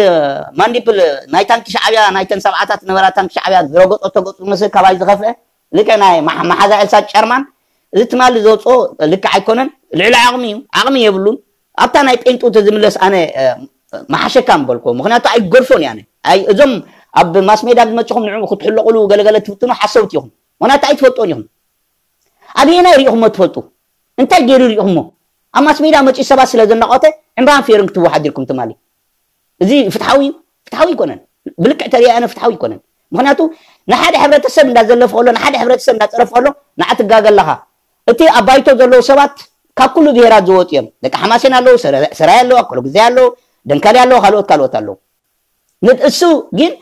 ማንዲፕል ናይ ታንኪ ሻዕብያ ናይተን ሰብዓታት ነበራ ታንኪ ሻዕብያ ዝረገጦ ተገፁ መስል ካባይ ዝኸፍአ ልክዕ ናይ መሓዛ ኤልሳ ጨርማን እዚ ትማሊ ዘውፅኦ ልክዕ ኣይኮነን። ልዕሊ ዓቕሚ እዩ። ዓቕሚ የብሉን። ኣብታ ናይ ጴንጡ ተዝምለስ ኣነ መሓሸካ ምበልኮ ምክንያቱ ኣይገድፎን እየ። እዞም ኣብ ማስ ሜዳ ዝመፅኹም ንዕኡ ክትሕለቑሉ ገለገለ ትፍትኑ ሓሰውቲ ኢኹም። ምክንያቱ ኣይትፈልጦን ኢኹም። ኣበየናይ ሪኢኹሞ ትፈልጡ? እንታይ ገይሩ ሪኢኹሞ? ኣብ ማስ ሜድያ መፂኡ ሰባት ስለ ዘናቆተ ዕምባን ፌርን ክትወሓድ ኢልኩም ትማሊ። እዚ ፍትሓዊ እዩ? ፍትሓዊ ኣይኮነን። ብልክዕ ተሪኣነ ፍትሓዊ ኣይኮነን። ምክንያቱ ንሓደ ሕብረተሰብ እንዳዘለፈ ከሎ፣ ንሓደ ሕብረተሰብ እንዳፀረፈ ከሎ ንዓ ትጋገ ኣለኻ። እቲ ኣብ ባይቶ ዘለዉ ሰባት ካብ ኩሉ ብሄራት ዝወፁ እዮም። ደቂ ሓማሴን ኣለዉ፣ ሰረ- ሰራይ ኣለዉ፣ ኣኮሎ ግዜ ኣለዉ፣ ደንካሊ ኣለዉ፣ ካልኦት ካልኦት ኣለዉ። ንእሱ ግን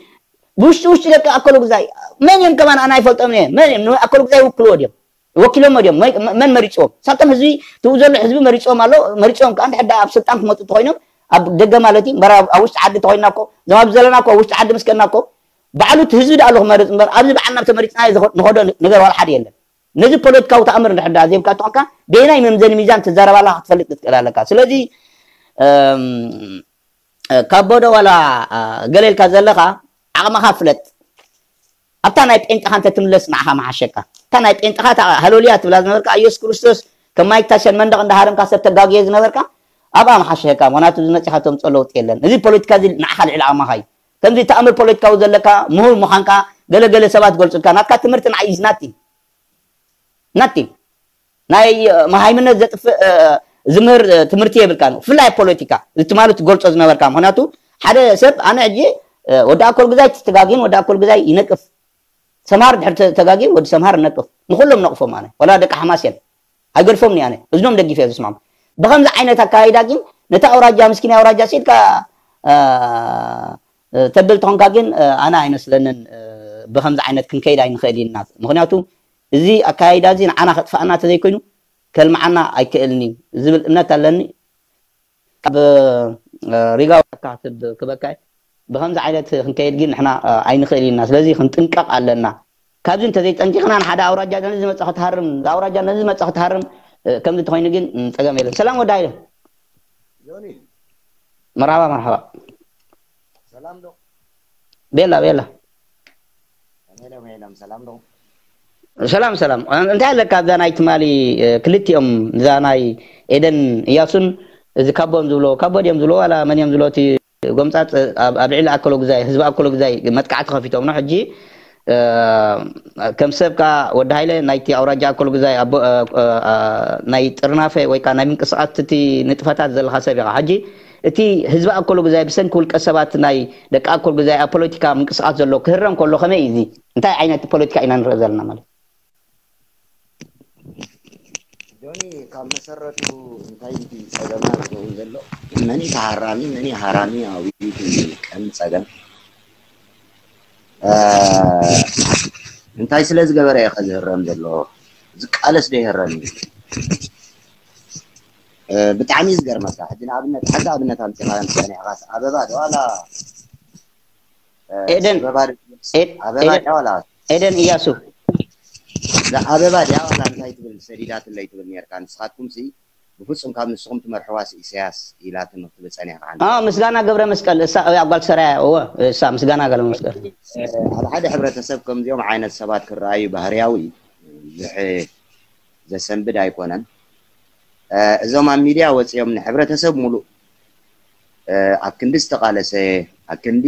ብውሽጢ ውሽጢ ደቂ ኣኮሎ ግዛይ መን እዮም ከማን ኣና ይፈልጦም እየ። መን እዮም ንኣኮሎ ግዛይ ይውክልዎ ድዮም? ወኪሎሞ ድዮም? መ- መን መሪፅዎም? ሳቶም ህዝቢ ትብኡ ዘሎ ህዝቢ መሪፅዎም ኣሎ። መሪፅዎም ከዓ እንድሕር ደኣ ኣብ ስልጣን ክመፁ ተኮይኖም ኣብ ደገ ማለት እዩ እምበር ኣብ ኣብ ውሽጢ ዓዲ ተኮይና እኮ እዞም ኣብ ዘለና እኮ ኣብ ውሽጢ ዓዲ ምስ ከድና እኮ ባዕሉ እቲ ህዝቢ ደኣ ኣሎ ክመርፅ እምበር ኣብዚ በዓልና ተመሪፅና እዩ ዝኸ- ንኸዶ ነገር ዋላ ሓደ የለን። ነዚ ፖለቲካዊ ተኣምር እንድሕር ደኣ ዘይብካ ተኾንካ በየናይ መምዘኒ ሚዛን ትዛረብ ኣለካ ክትፈልጥ ክትክእል ኣለካ። ስለዚ እም፣ ካብ ቦዶ ዋላ ገለ ኢልካ ዘለኻ ዓቕምኻ ፍለጥ። ኣብታ ናይ ጴንጥኻ እንተ ትምለስ ንዓኻ መሓሸካ። እታ ናይ ጴንጥኻ እታ ሃሎልያ ትብላ ዝነበርካ ኢየሱስ ክርስቶስ ከም ማይክ ታይሰን መንደቕ እንዳሃረምካ ሰብ ተጋግየ ዝነበርካ ኣብኣ መሓሸካ። ምኽንያቱ እዚ መጺኻ ተምፅኦ ለውጢ የለን። እዚ ፖለቲካ እዚ ንዓኻ ልዕሊ ዓቕምኻ እዩ። ከምዚ ተኣምር ፖለቲካዊ ዘለካ ምሁር ምዃንካ ገለገለ ሰባት ገልፁልካ ናትካ ትምህርቲ ንዓይ is nothing። Nothing። ናይ መሃይምነት ዘጥፍእ ዝምህር ትምህርቲ የብልካን። ብፍላይ ፖለቲካ እዚ ትማሊ ትገልፆ ዝነበርካ ምክንያቱ ሓደ ሰብ ኣነ ሕጂ ወዲ ኣኮል ግዛይ ተጋግን ወዲ ኣኮል ግዛይ ይነቅፍ። ሰምሃር ድሕር ተጋግን ወዲ ሰምሃር ነቅፍ። ንኩሎም ነቅፎም ኣነ ወላ ደቂ ሓማስያን ኣይገድፎም ኣነ እዝኖም ደጊፈ ዝስማም። ብከምዚ ዓይነት ኣካይዳ ግን ነታ ኣውራጃ ምስኪና ኣውራጃ ሲልካ ተብል ተኾንካ ግን ኣነ ኣይመስለንን ብከምዚ ዓይነት ክንከይድ ኣይንኽእል ኢልና ምክንያቱ እዚ ኣካያይዳ እዚ ንዓና ከጥፍኣና ተዘይኮይኑ ከልምዓና ኣይክእልን እዩ ዝብል እምነት ኣለኒ። ካብ ሪጋ ወካ ክበካ ብከምዚ ዓይነት ክንከይድ ግን ንሕና ኣይንኽእል ኢና። ስለዚ ክንጥንቀቕ ኣለና። ካብዚ እንተዘይጠንቂቕና ንሓደ ኣውራጃ ነዚ ዝመፀ ክትሃርም ኣውራጃ ነዚ ዝመፀ ክትሃርም ከምዚ እንተኮይኑ ግን ፀገም የለን። ሰላም ወዲ ሃይለ። መርሓባ መርሓባ። ሰላም ዶ? ቤላ ቤላ። ሰላም ሰላም። እንታይ ኣለካ ኣብዛ ናይ ትማሊ ክልቲኦም እዛ ናይ ኤደን እያሱን እዚ ካቦ እዮም ዝብሎ ካቦ ድዮም ዝብሎ ዋላ መን እዮም ዝብሎ እቲ ጎምፃፅ ኣብ ልዕሊ ኣኮሎ ግዛይ ህዝቢ ኣኮሎ ግዛይ መጥቃዕቲ ከፊቶም ነው ሕጂ ከም ሰብ ከዓ ወዲ ሃይለ ናይቲ ኣውራጃ ኣኮሎ ግዛይ ናይ ጥርናፈ ወይ ከዓ ናይ ምንቅስቃስ እቲ ንጥፈታት ዘለካ ሰብ ኢካ ሕጂ እቲ ህዝቢ ኣኮሎ ግዛይ ብሰንኪ ውልቀ ሰባት ናይ ደቂ ኣኮል ግዛይ ኣብ ፖለቲካ ምንቅስቃስ ዘሎ ክህረም ከሎ ከመይ እዩ እዚ እንታይ ዓይነት ፖለቲካ ኢና ንርኢ ዘለና ማለት ጆኒ ካብ መሰረቱ እንታይ እዩ ፀገምና ዝኸውን ዘሎ መን እዩ ተሃራሚ መን እዩ ሃራሚ ኣብዩ ቀን ፀገም እንታይ ስለ ዝገበረ እዩ ከዝህረም ዘሎ ዝቃለስ ዶ ይህረም እዩ ብጣዕሚ እዩ ዝገርመካ ሕጂ ንኣብነት ሓንቲ ኣብነት ኣምፂኻ ፀኒዕኻስ ኣበባ ዶ ዋላ ኤደን ኣበባ ዶ- ኣበባ ድያ ዋላ ኤደን እያሱ እዛ ኣበባ ድያ ዋላ እንታይ ትብል ሰዲዳትለይ ትብል ነርካ ንስኻትኩም ሲ ብፍፁም ካብ ንስኹም ትመርሕዋስ ኢሳያስ ኢላትም ክትብል ፀኒሕካ ሓንቲ አ ምስጋና ገብረ መስቀል እሳ እያ ጓል ሰራያ እወ እሳ ምስጋና ገብረ መስቀል ኣብ ሓደ ሕብረተሰብ ከምዚኦም ዓይነት ሰባት ክረኣዩ ባህርያዊ ብዙሕ ዘሰንብድ ኣይኮነን። እዞም ኣብ ሚድያ ወፂኦም ንሕብረተሰብ ሙሉእ ኣብ ክንዲ ዝተቓለሰ፣ ኣብ ክንዲ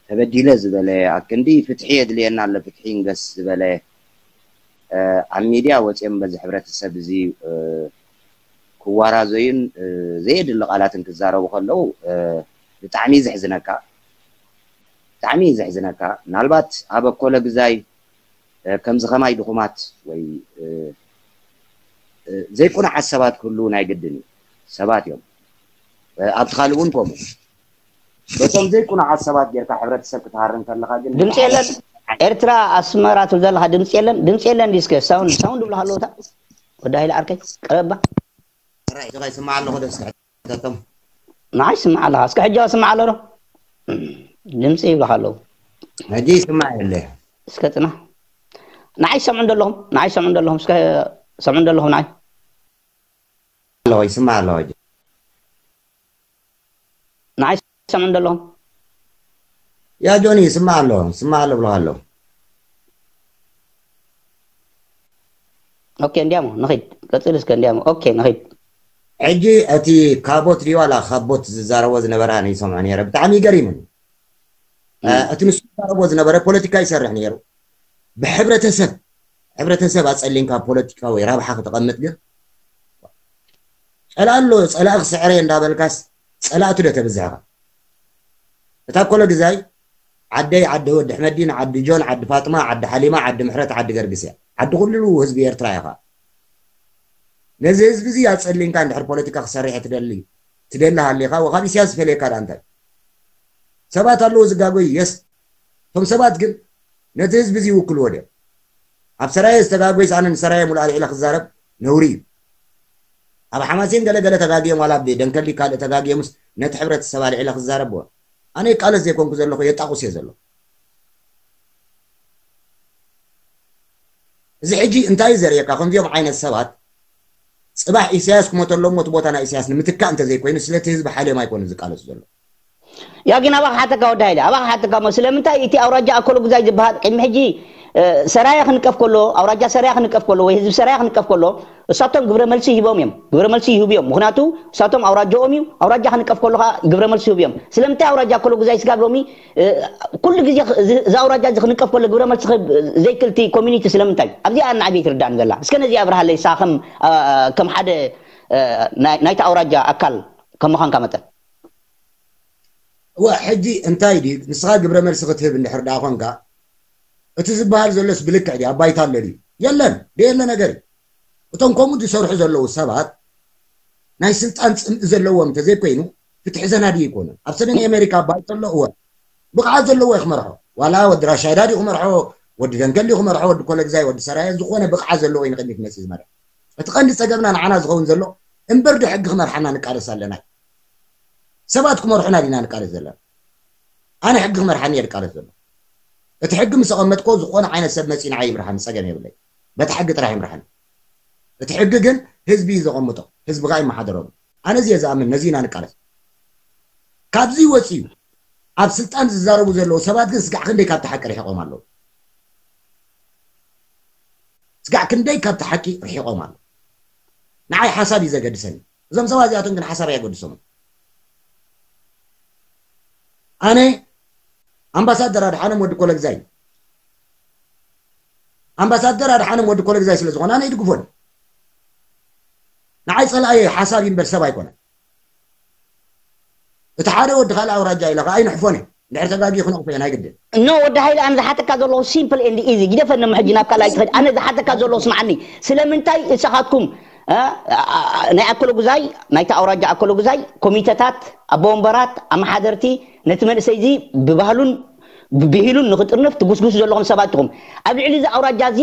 ተበዲለ ዝበለ፣ ኣብ ክንዲ ፍትሒ የድልየና ኣሎ ፍትሒ ይንገስ ዝበለ ኣብ ሚድያ ወፂኦም በዚ ሕብረተሰብ እዚ ክዋራዘዩን ዘየድሊ ቃላትን ክዛረቡ ከለዉ ብጣዕሚ እዩ ዘሕዝነካ። ብጣዕሚ እዩ ዘሕዝነካ። ምናልባት ኣብ ኣኮለ ግዛይ ከምዚ ከማይ ድኹማት ወይ ዘይቁኑዓት ሰባት ክህልዉ ናይ ግድን እዩ። ሰባት እዮም። ኣብቲ ካልእ እውን ከምኡ። በቶም ዘይቁኑዓት ሰባት ጌርካ ሕብረተሰብ ክትሃርም ከለኻ ግን ድምፂ የለን ኤርትራ ኣስመራ ትብል ዘለካ ድምፂ የለን ድምፂ የለን ዲስከ ሳውንድ ሳውንድ ብሎ ኣለውታ ወዲ ሃይለ ዓርከይ ቀረባ ጥራይ ጥራይ ስማዕ ኣለኹ ደስ ሕተቶም ንዓይ ስማዕ ኣለኻ እስከ ሕጂ ስማዕ ኣሎ ዶ ድምፂ ይብልካ ኣለዉ ሕጂ ይስማዕ የለ እስከ ፅና ንዓይ ሰምዑ እንደለኹም ንዓይ ሰምዑ እንደለኹም እስከ ሰምዑ እንደለኹም ንዓይ ኣለኹ ይስማዕ ኣለኹ ሕጂ ንዓይ ሰምዑ እንደለኹም ያ ጆኒ ይስማዕ ኣሎ ይስማዕ ኣሎ ብለኻ ኣሎ ኦኬ እንዲያሞ ንኺድ ቀፅል እስከ እንዲያሞ ኦኬ ንኺድ ሕጂ እቲ ካቦት ድዩ ዋላ ካቦት ዝዛረቦ ዝነበረ ኣነ ይሰምዖ ነይረ ብጣዕሚ ይገሪምን እቲ ንሱ ዝዛረቦ ዝነበረ ፖለቲካ ይሰርሕ ነይሩ ብሕብረተሰብ ሕብረተሰብ ኣፀሊምካ ፖለቲካዊ ራብሓ ክተቐምጥ ግን ጸላእ ኣሎ፣ ጸላእ ክስዕረ እንዳበልካስ ጸላእቲ ዶ ተብዝሕ ኢኻ? እታ ኮሎ ግዛይ ዓደይ፣ ዓዲ ወዲ ሕመዲን፣ ዓዲ ጆን፣ ዓዲ ፋጥማ፣ ዓዲ ሓሊማ፣ ዓዲ ምሕረት፣ ዓዲ ገርግስ እያ። ዓዲ ኩሉ ህዝቢ ኤርትራ ኢኻ። ነዚ ህዝቢ እዚ ኣጸሊንካ እንድሕር ፖለቲካ ክሰርሕ ትደሊ ትደሊ ሃሊኻ ወካብ ኢሳያስ ዝፈልየካ ደኣ እንታይ? ሰባት ኣለዉ ዝጋጎዩ፣ የስ። እቶም ሰባት ግን ነቲ ህዝቢ እዚ ይውክልዎ ድዮም? ኣብ ሰራየ ዝተጋጎይስ ኣነ ንሰራየ ሙሉእ ኣልዒለ ክዛረብ ነውሪ እዩ። ኣብ ሓማሴን ገለ ገለ ተጋግዮም ዋላ ብደንከሊ ካልእ ተጋግዮምስ ነቲ ሕብረተሰብ ኣልዒለ ክዛረብ እወ። ኣነ ይቃለስ ዘይኮንኩ ዘለኹ የጣቑስ እየ ዘለኹ። እዚ ሕጂ እንታይ እዩ ዘርእየካ? ከምዚኦም ዓይነት ሰባት ጽባሕ ኢሳያስ ክሞተሎም እቲ ቦታ ናይ ኢሳያስ ንምትካእ እንተዘይኮይኑ ስለቲ ህዝቢ ሓልዮም ኣይኮኑን ዝቃለሱ ዘለዉ። ያ ግን ኣባኻ ሓተካ ወዲ ሃይለ ኣባኻ ሓተካ እሞ ስለምንታይ እቲ ኣውራጃ ኣኮሎ ጉዛይ ዝበሃል ቅድሚ ሕጂ ሰራያ ክንቀፍ ከሎ ኣውራጃ ሰራያ ክንቀፍ ከሎ ወይ ህዝቢ ሰራያ ክንቀፍ ከሎ እሳቶም ግብረ መልሲ ሂቦም እዮም ግብረ መልሲ ይህቡ እዮም ምክንያቱ እሳቶም ኣውራጃኦም እዩ ኣውራጃ ክንቀፍ ከሎ ከዓ ግብረ መልሲ ይህቡ እዮም ስለምንታይ ኣውራጃ ኣኮሎ ጉዛይ ስጋብ ሎሚ ኩሉ ግዜ እዚ ኣውራጃ እዚ ክንቀፍ ከሎ ግብረ መልሲ ክህብ ዘይክልቲ ኮሚኒቲ ስለምንታይ ኣብዚኣ ንዓብ ይትርዳእኒ ዘላ እስከ ነዚ ኣብርሃለይ ሳ ከም ከም ሓደ ናይታ ኣውራጃ ኣካል ከም ምዃንካ መጠን እወ ሕጂ እንታይ ድዩ ንስኻ ግብረ መልሲ ክትህብ እንድሕር ደኣ ኮንካ እቲ ዝበሃል ዘሎስ ብልክዕ ድዩ ኣብ ባይታ ኣሎ ድዩ የለን ደየለ ነገር እዩ እቶም ከምኡ ዝሰርሑ ዘለዉ ሰባት ናይ ስልጣን ፅምኢ ዘለዎም እንተዘይኮይኑ ፍትሒ ዘናዲ ይኮኑ ኣብ ሰሜን ኣሜሪካ ባይታ ኣሎ እወ ብቕዓት ዘለዎ እዩ ክመርሖ ዋላ ወዲ ራሻይዳ ድዩ ክመርሖ ወዲ ደንከል ድዩ ክመርሖ ወዲ ኮለግዛይ ወዲ ሰራየ ዝኾነ ብቕዓት ዘለዎ እዩ ንቅድሚት መፅእ ዝመርሕ እቲ ቀንዲ ፀገምና ንዓና ዝኸውን ዘሎ እምበር ዶ ሕጊ ክመርሓና ንቃለስ ኣለና ሰባት ክመርሑና ዲና ንቃለስ ዘለና ኣነ ሕጊ ክመርሓኒ እየ ዝቃለስ ዘሎ እቲ ሕጊ ምስ ኣቐመጥኮ ዝኾነ ዓይነት ሰብ መፂኡ ንዓይ ይምርሓኒ ፀገም የብለይ በቲ ሕጊ ጥራሕ ይምርሓኒ እቲ ሕጊ ግን ህዝቢ እዩ ዘቐምጦ ህዝቢ ከዓ ይመሓደረሉ ኣነ እዚ እየ ዝኣምን ነዚ ኢና ንቃለስ ካብዚ ወፂኡ ኣብ ስልጣን ዝዛረቡ ዘለዉ ሰባት ግን ስጋዕ ክንደይ ካብቲ ሓቂ ርሒቖም ኣለዉ ስጋዕ ክንደይ ካብቲ ሓቂ ርሒቖም ኣለዉ ንዓይ ሓሳብ እዩ ዘገድሰኒ እዞም ሰባት እዚኣቶም ግን ሓሳብ ኣየገድሶምን ኣነ ኣምባሳደር ኣድሓኖም ወዲ ኮለግዛይ ኣምባሳደር ኣድሓኖም ወዲ ኮለግዛይ ስለ ዝኾነ ኣነ ይድግፎን ንዓይ ጸላእየ ሓሳብ ይንበር ሰብ ኣይኮነን እቲ ሓደ ወዲ ካልእ ኣውራጃ ኢለ ከዓ ኣይንሕፎን እየ እንድሕር ተጋጊ ክነቕፎ እየ ናይ ግድን ኖ ወዲ ሃይለ ኣነ ዝሓተካ ዘለኹ simple and easy ግደፈኒ ሕጂ ናብ ካልኣይ ትኸድ ኣነ ዝሓተካ ዘለኹ ስምዓኒ ስለምንታይ እሳኻትኩም ናይ ኣኮሎ ጉዛይ ናይቲ ኣውራጃ ኣኮሎ ጉዛይ ኮሚተታት ኣቦ ወንበራት ኣመሓደርቲ ነቲ መንእሰይ እዚ ብባህሉን ብሂሉን ንክጥርንፍ ትጉስጉሱ ዘለኹም ሰባት ኢኹም ኣብ ልዕሊ እዚ ኣውራጃ እዚ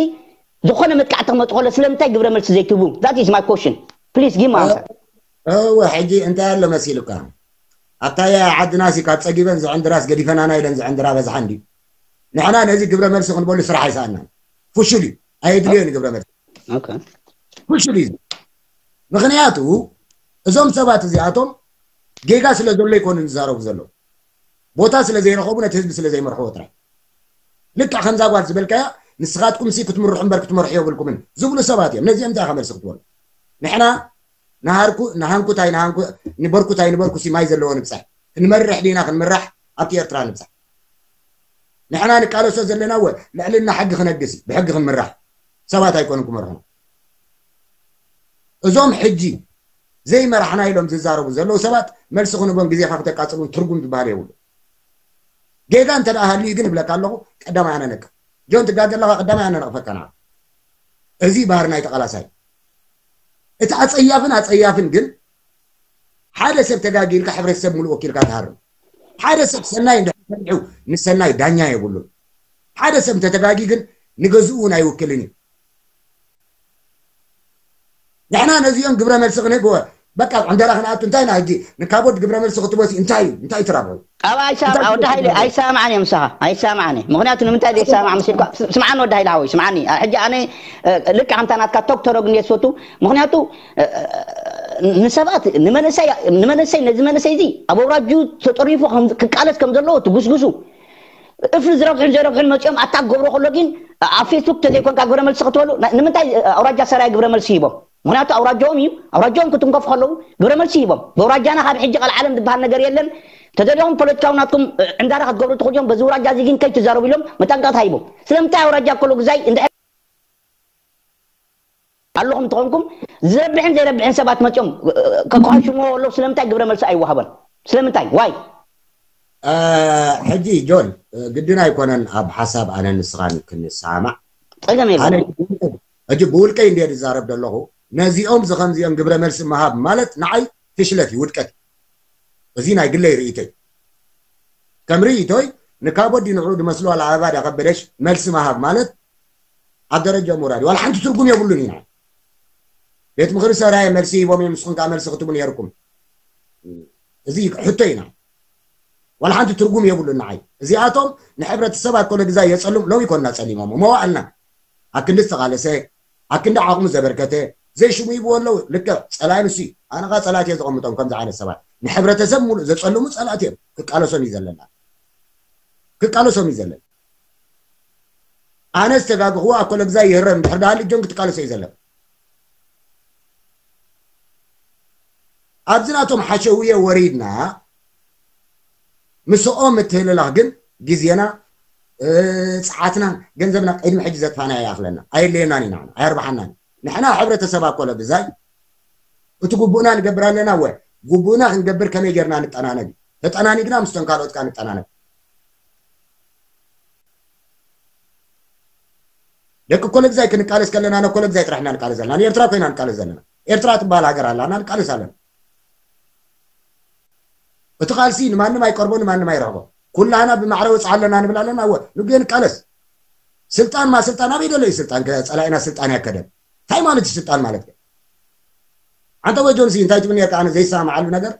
ዝኾነ መጥቃዕቲ ክመጡ ከሎ ስለምንታይ ግብረ መልሲ ዘይትህቡ that is my question please give me answer እወ ሕጂ እንታይ ኣሎ መሲሉካ ኣብታ ዓድናሲ ካብ ፀጊበን ዝዕንድራስ ገዲፈናና ኢለን ዝዕንድራ በዝሓ እንዲ ንሕና ነዚ ግብረ መልሲ ክንበሉ ስራሕ ኣይሰኣናን ፍሹል እዩ ኣየድልዮን ግብረ መልሲ ፍሹል እዩ ምክንያቱ እዞም ሰባት እዚኣቶም ጌጋ ስለ ዘሎ ይኮኑ ዝዛረቡ ዘለዉ ቦታ ስለ ዘይረኸቡ ነቲ ህዝቢ ስለ ዘይመርሕዎ ጥራይ ልክዕ ከምዛ ጓል ዝበልካያ ንስኻትኩም ሲ ክትምርሑ እምበር ክትመርሑ የብልኩምን ዝብሉ ሰባት እዮም ነዚኦም እንታይ ከመልሲ ክትበሉ ንሕና ንሃርኩ ንሃንኩ ታይ ንሃንኩ ንበርኩ ታይ ንበርኩ ሲ ማይ ዘለዎ ንብፃሕ ክንመርሕ ዲና ክንምራሕ ኣብቲ ኤርትራ ንብፃሕ ንሕና ንቃለሶ ዘለና ወ ልዕልና ሕጊ ክነግስ እዩ ብሕጊ ክንምራሕ ሰባት ኣይኮኑን ክመርሑና እዞም ሕጂ ዘይመራሕና ኢሎም ዝዛረቡ ዘለዉ ሰባት መልሲ ክንቦም ግዜኻ ክተቃፅሉን ትርጉም ዝበሃል የብሉ ጌጋ እንተ ደኣ ሃልዩ ግን እብለካ ኣለኹ ቀዳማይ ኣነ ነቅፍ ጆን ትጋገ ኣለኻ ቀዳማይ ኣነ ነቕፈካ ንዓ እዚ ባህሪ ናይ ተቓላሳይ እቲ ኣፀያፍን ኣፀያፍን ግን ሓደ ሰብ ተጋጊ ኢልካ ሕብረተሰብ ሙሉእ ወኪልካ ትሃርም ሓደ ሰብ ሰናይ እንድሕር ሰሪሑ ንሰናይ ዳኛ የብሉን ሓደ ሰብ እንተተጋጊ ግን ንገዝኡ እውን ኣይውክልን እዩ ንሕና ነዚኦም ግብረ መልሲ ክንህብ እወ በቃ ዕንደራ ክንኣቱ እንታይ ኢና ሕጂ ንካቦድ ግብረ መልሲ ክትቦሲ እንታይ እዩ እንታይ ትራብሑ ኣብ ኣይሳም ወዲ ሃይለ ኣይሰማዕን እዮም ምሳኻ ኣይሰማዕን ምክንያቱ ንምንታይ ዘይሰማዕ መሲልካ ስምዓኒ ወዲ ሃይለ ሓወይ ስምዓኒ ሕጂ ኣነ ልክዕ ከምታ ናትካ ቶክ ተረግ እንደ ዝፈቱ ምክንያቱ ንሰባት ንመንእሰይ ነዚ መንእሰይ እዚ ኣብ ኣውራጁ ተጠሪፉ ክቃለስ ከም ዘለዎ ትጉስጉሱ እፍሪ ዝረብሑን ዘይረብሑን መፂኦም ኣታ ክገብሮ ከሎ ግን ኣብ ፌስቡክ ተዘይኮንካ ግብረ መልሲ ክትበሉ ንምንታይ ኣውራጃ ሰራይ ግብረ መልሲ ሂቦም ምክንያቱ ኣውራጃኦም እዩ ኣውራጃኦም ክትንከፉ ከለዉ ግብረ መልሲ ሂቦም በውራጃና ካብ ሕጂ ቀልዓለም ዝበሃል ነገር የለን ተደሊኹም ፖለቲካዊ ናትኩም ዕንዳራ ክትገብሩ ትኽእሉ እዮም በዚ ውራጃ እዚ ግን ከይትዛረቡ ኢሎም መጠንቀቕታ ሂቦም ስለምንታይ ኣውራጃ ከሎ ግዛይ እንድሕር ኣለኹም እንተኾንኩም፣ ዝረብሕን ዘይረብሕን ሰባት መፅኦም ከቋሽምዎ ኣለዉ። ስለምንታይ ግብረ መልሲ ኣይወሃቦን? ስለምንታይ ዋይ? ሕጂ ጆን፣ ግድን ኣይኮነን ኣብ ሓሳብ ኣነ ንስኻን ክንሰማማዕ። ፀገም የለ። ሕጂ ብውልቀይ እንደ ዝዛረብ ዘለኹ፣ ነዚኦም ዝኸምዚኦም ግብረ መልሲ ምሃብ ማለት ንዓይ ፍሽለት እዩ፣ ውድቀት እዩ። እዚ ናይ ግለይ ርእይቶይ። ከም ርእይቶይ፣ ንካቦዲ ንዕኡ ዝመስሉ ኣልኣበባ ዳኸበደሽ መልሲ ምሃብ ማለት ኣብ ደረጃ ምውራድ እዩ። ዋላ ሓንቲ ትርጉም የብሉን ኢና። ቤት ምኽሪ ሰራየ መልሲ ሂቦም እዮም፣ ንስኹም ከዓ መልሲ ክትቡ ነይርኩም። እዚ ሕቶ ኢና። ዋላ ሓንቲ ትርጉም የብሉን ንዓይ። እዚኣቶም ንሕብረተሰብ ኣኮለ ግዛ የፀሉም። ሎሚ ኮንና ፀሊሞም መዋዕልና ኣክንዲ ዝተቓለሰ ኣክንዲ ዓቕሙ ዘበርከተ ዘይሽሙ ይብዎ ኣለዉ። ልክዕ ፀላኢ ንሱ እዩ። ኣነ ኸዓ ፀላእት እየ ዘቐምጦም ከምዚ ዓይነት ሰባት። ንሕብረተሰብ ሙሉእ ዘፀልሙ ፀላእት እዮም። ክቃለሶም እዩ ዘለና። ክቃለሶም እዩ ዘለና። ኣነ ዝተጋግኽዎ ኣኮለ ግዛ ይህረም እንድሕር ደኣ ልጆን ክትቃለሶ እዩ ዘለና። ኣብዚ ናቶም ሓሸውየ ወሪድና ምስኦም ምትህልላኽ ግን ግዜና ፃዓትና ገንዘብና ቅድሚ ሕጂ ዘጥፋና ይኣኽለና ኣየድልየናን ኢና ኣየርባሓናን። ንሕና ሕብረተሰብ ኣኮለ ግዛይ እቲ ጉቡእና ንገብር ኣለና ወ ጉቡእና ክንገብር ከመይ ጌርና ንጠናነግ ተጠናኒግና ምስቶም ካልኦት ካ ንጠናነግ። ደቂ ኮለግዛይ ክንቃለስ ከለና ነኮለግዛይ ጥራሕ ኢና ንቃለስ ዘለና። ንኤርትራ ኮይና ንቃለስ ዘለና። ኤርትራ ትበሃል ሃገር ኣላና ንቃለስ ኣለና። እቲ ቃልሲ ንማንም ኣይቀርቦ ንማንም ኣይረኽቦ። ኩላህና ብማዕረ ወፅዓ ኣለና ንብል ኣለና። እወ ንግዜ ንቃለስ። ስልጣን ማ ስልጣን ኣበይ ደሎ እዩ ስልጣን? ጸላኢና ስልጣን ያከደን እንታይ ማለት እዩ ስልጣን ማለት? ኣንተ ወይ ጆንሲ እንታይ ትብል ነርካ? ኣነ ዘይሰማማዓሉ ነገር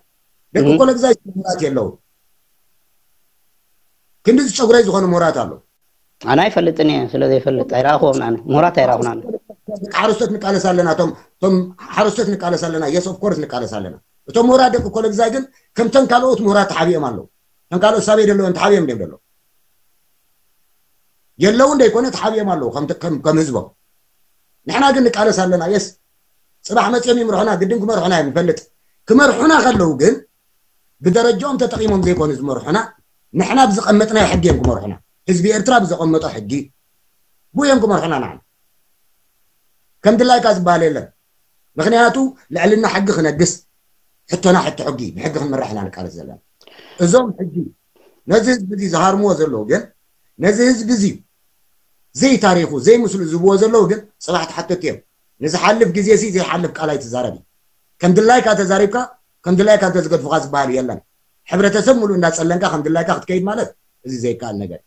ደቂ ኮለግዛይ ምሁራት የለዉ። ክንዲ ዝጨጉረይ ዝኾኑ ምሁራት ኣለዉ። ኣነ ኣይፈልጥን እየ ስለ ዘይፈልጥ ኣይረኣኹዎም ኣነ ምሁራት ኣይረኣኹን ኣነ። ሓረስቶት ንቃለስ ኣለና እቶም እቶም ሓረስቶት ንቃለስ ኣለና yes of course ንቃለስ ኣለና። እቶም ምሁራት ደቂ ኮለግዛይ ግን ከምተን ካልኦት ምሁራት ተሓቢኦም ኣለዉ። እቶም ካልኦት ሳበይ ደለዎም ተሓቢኦም ደም ደለዉ የለዉ እንደይኮነ ተሓቢኦም ኣለዉ ከም ከም ህዝቦም። ንሕና ግን ንቃለስ ኣለና yes ጽባሕ መጽኦም ይምርሑና ግድን ክመርሑና እዮም ንፈልጥ። ክመርሑና ከለዉ ግን ብደረጃኦም ተጠቒሞም ዘይኮኑ ዝመርሑና ንሕና ብዝቐመጥናዮ ሕጊ እዮም ክመርሑና። ህዝቢ ኤርትራ ብዘቐመጦ ሕጊ ብኡ እዮም ክመርሑና። ንዓና ከም ድላይካ ዝበሃል የለን። ምክንያቱ ልዕልና ሕጊ ክነግስ ሕቶና ሕቶ ሕጊ ብሕጊ ክንምራሕ ኢና ንቃለስ ዘለና። እዞም ሕጂ ነዚ ህዝቢ እዚ ዝሃርምዎ ዘለዉ ግን ነዚ ህዝቢ እዚ ዘይታሪኹ ዘይምስሉ ዝብዎ ዘለዉ ግን ፅባሕ ተሓተቲ እዮም። ንዝሓልፍ ግዜ ሲ ዘይሓልፍ ቃል ኣይትዛረብ እዩ። ከም ድላይካ ተዛሪብካ ከም ድላይካ እንተዝገድፉካ ዝበሃል የለን። ሕብረተሰብ ሙሉእ እንዳፀለንካ ከም ድላይካ ክትከይድ ማለት እዚ ዘይከኣል ነገር።